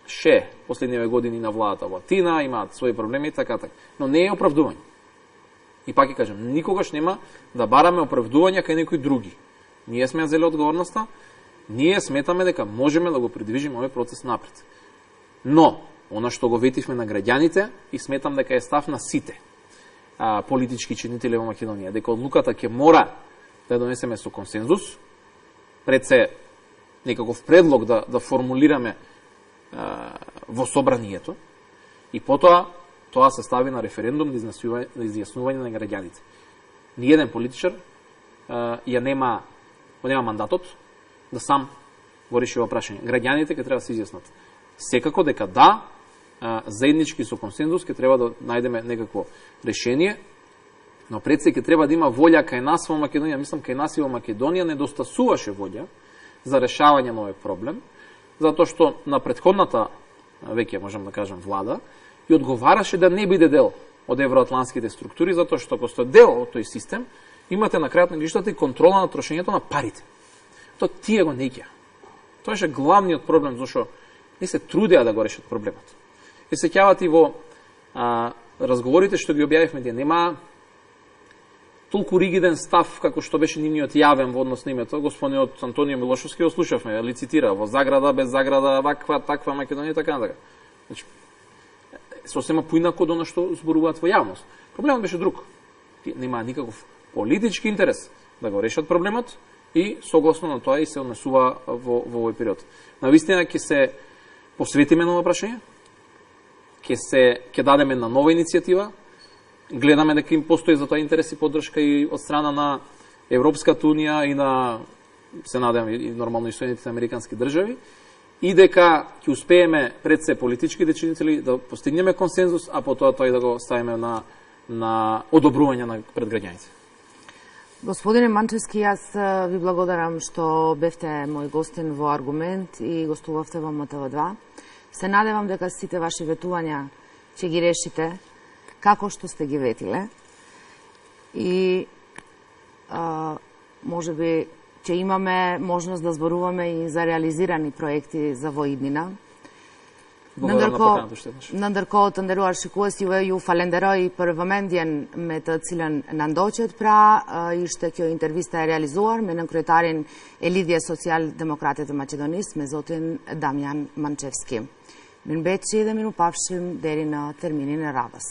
ше последниве години на владата во Атина, имаат своји проблеми и така така. Но не е оправдување. И пак ќе кажам, никогаш нема да бараме оправдувања кај некои други. Ние сме зеле одговорноста, ние сметаме дека можеме да го придвижиме овој процес напред. Но, она што го ветивме на граѓаните и сметам дека е став на сите а, политички чинители во Македонија, дека одлуката ќе мора да ја донесеме со консензус, пред се некаков предлог да, да формулираме а, во собранието, и потоа тоа се стави на референдум за изјаснување на граѓаните. Ниеден политичар а, ја нема, нема мандатот да сам го реши ова прашање. Граѓаните ќе треба да се изјаснат. Секако дека да, а, заеднички со консензус ќе треба да најдеме некакво решение, но пред се ќе треба да има волја кај нас во Македонија. Мислам, кај нас и во Македонија недостасуваше волја за решавање на овој проблем, затоа што на претходната, веќе можам да кажам, влада, и одговараше да не биде дел од евроатлантските структури, затоа што ако сте дел од тој систем, имате на крајот на граѓаните и контрола на трошењето на парите. Тоа тие го неќа. Тоа е главниот проблем, зашто не се трудеа да го решат проблемот. И се сеќавате и во а, разговорите што ги објавивме, тие нема толку ригиден став како што беше нивниот јавен во однос на името. Господинот Антонио Милошовски го слушавме, ли цитира, во заграда, без заграда, ваква, таква Македонија, така натака. Значи, сосема поинако од она што зборуваат во јавност. Проблемот беше друг. Нема никаков политички интерес да го решат проблемот и согласно на тоа и се однесува во, во овој период. Навистина ќе се посветиме на ова прашање, ќе се ќе дадеме на нова иницијатива, гледаме дека им постои за тоа интерес и поддршка и од страна на Европската унија и на, се надевам, и нормално и Соединетите американски држави, и дека ќе успееме пред се политичките чинители да постигнеме консензус, а потоа тој да го ставиме на, на одобрување на пред граѓаните. Господине Манчевски, јас ви благодарам што бевте мој гостин во Аргумент и гостувавте во М Т В два. Се надевам дека сите ваши ветувања ќе ги решите како што сте ги ветиле и а, може би ќе имаме можност да зборуваме и за реализирани проекти за во иднина. Nëndërkohë të nderuar shikues, juve ju falenderoj për vëmendjen me të cilën na ndoqët. Pra, ishte kjo intervista e realizuar me nënkryetarin e Lidhjes Social-Demokrate të Maqedonisë, me zotin Damjan Mančevski. Mirëmbëjtje dhe mirupafshim deri në terminin e radhës.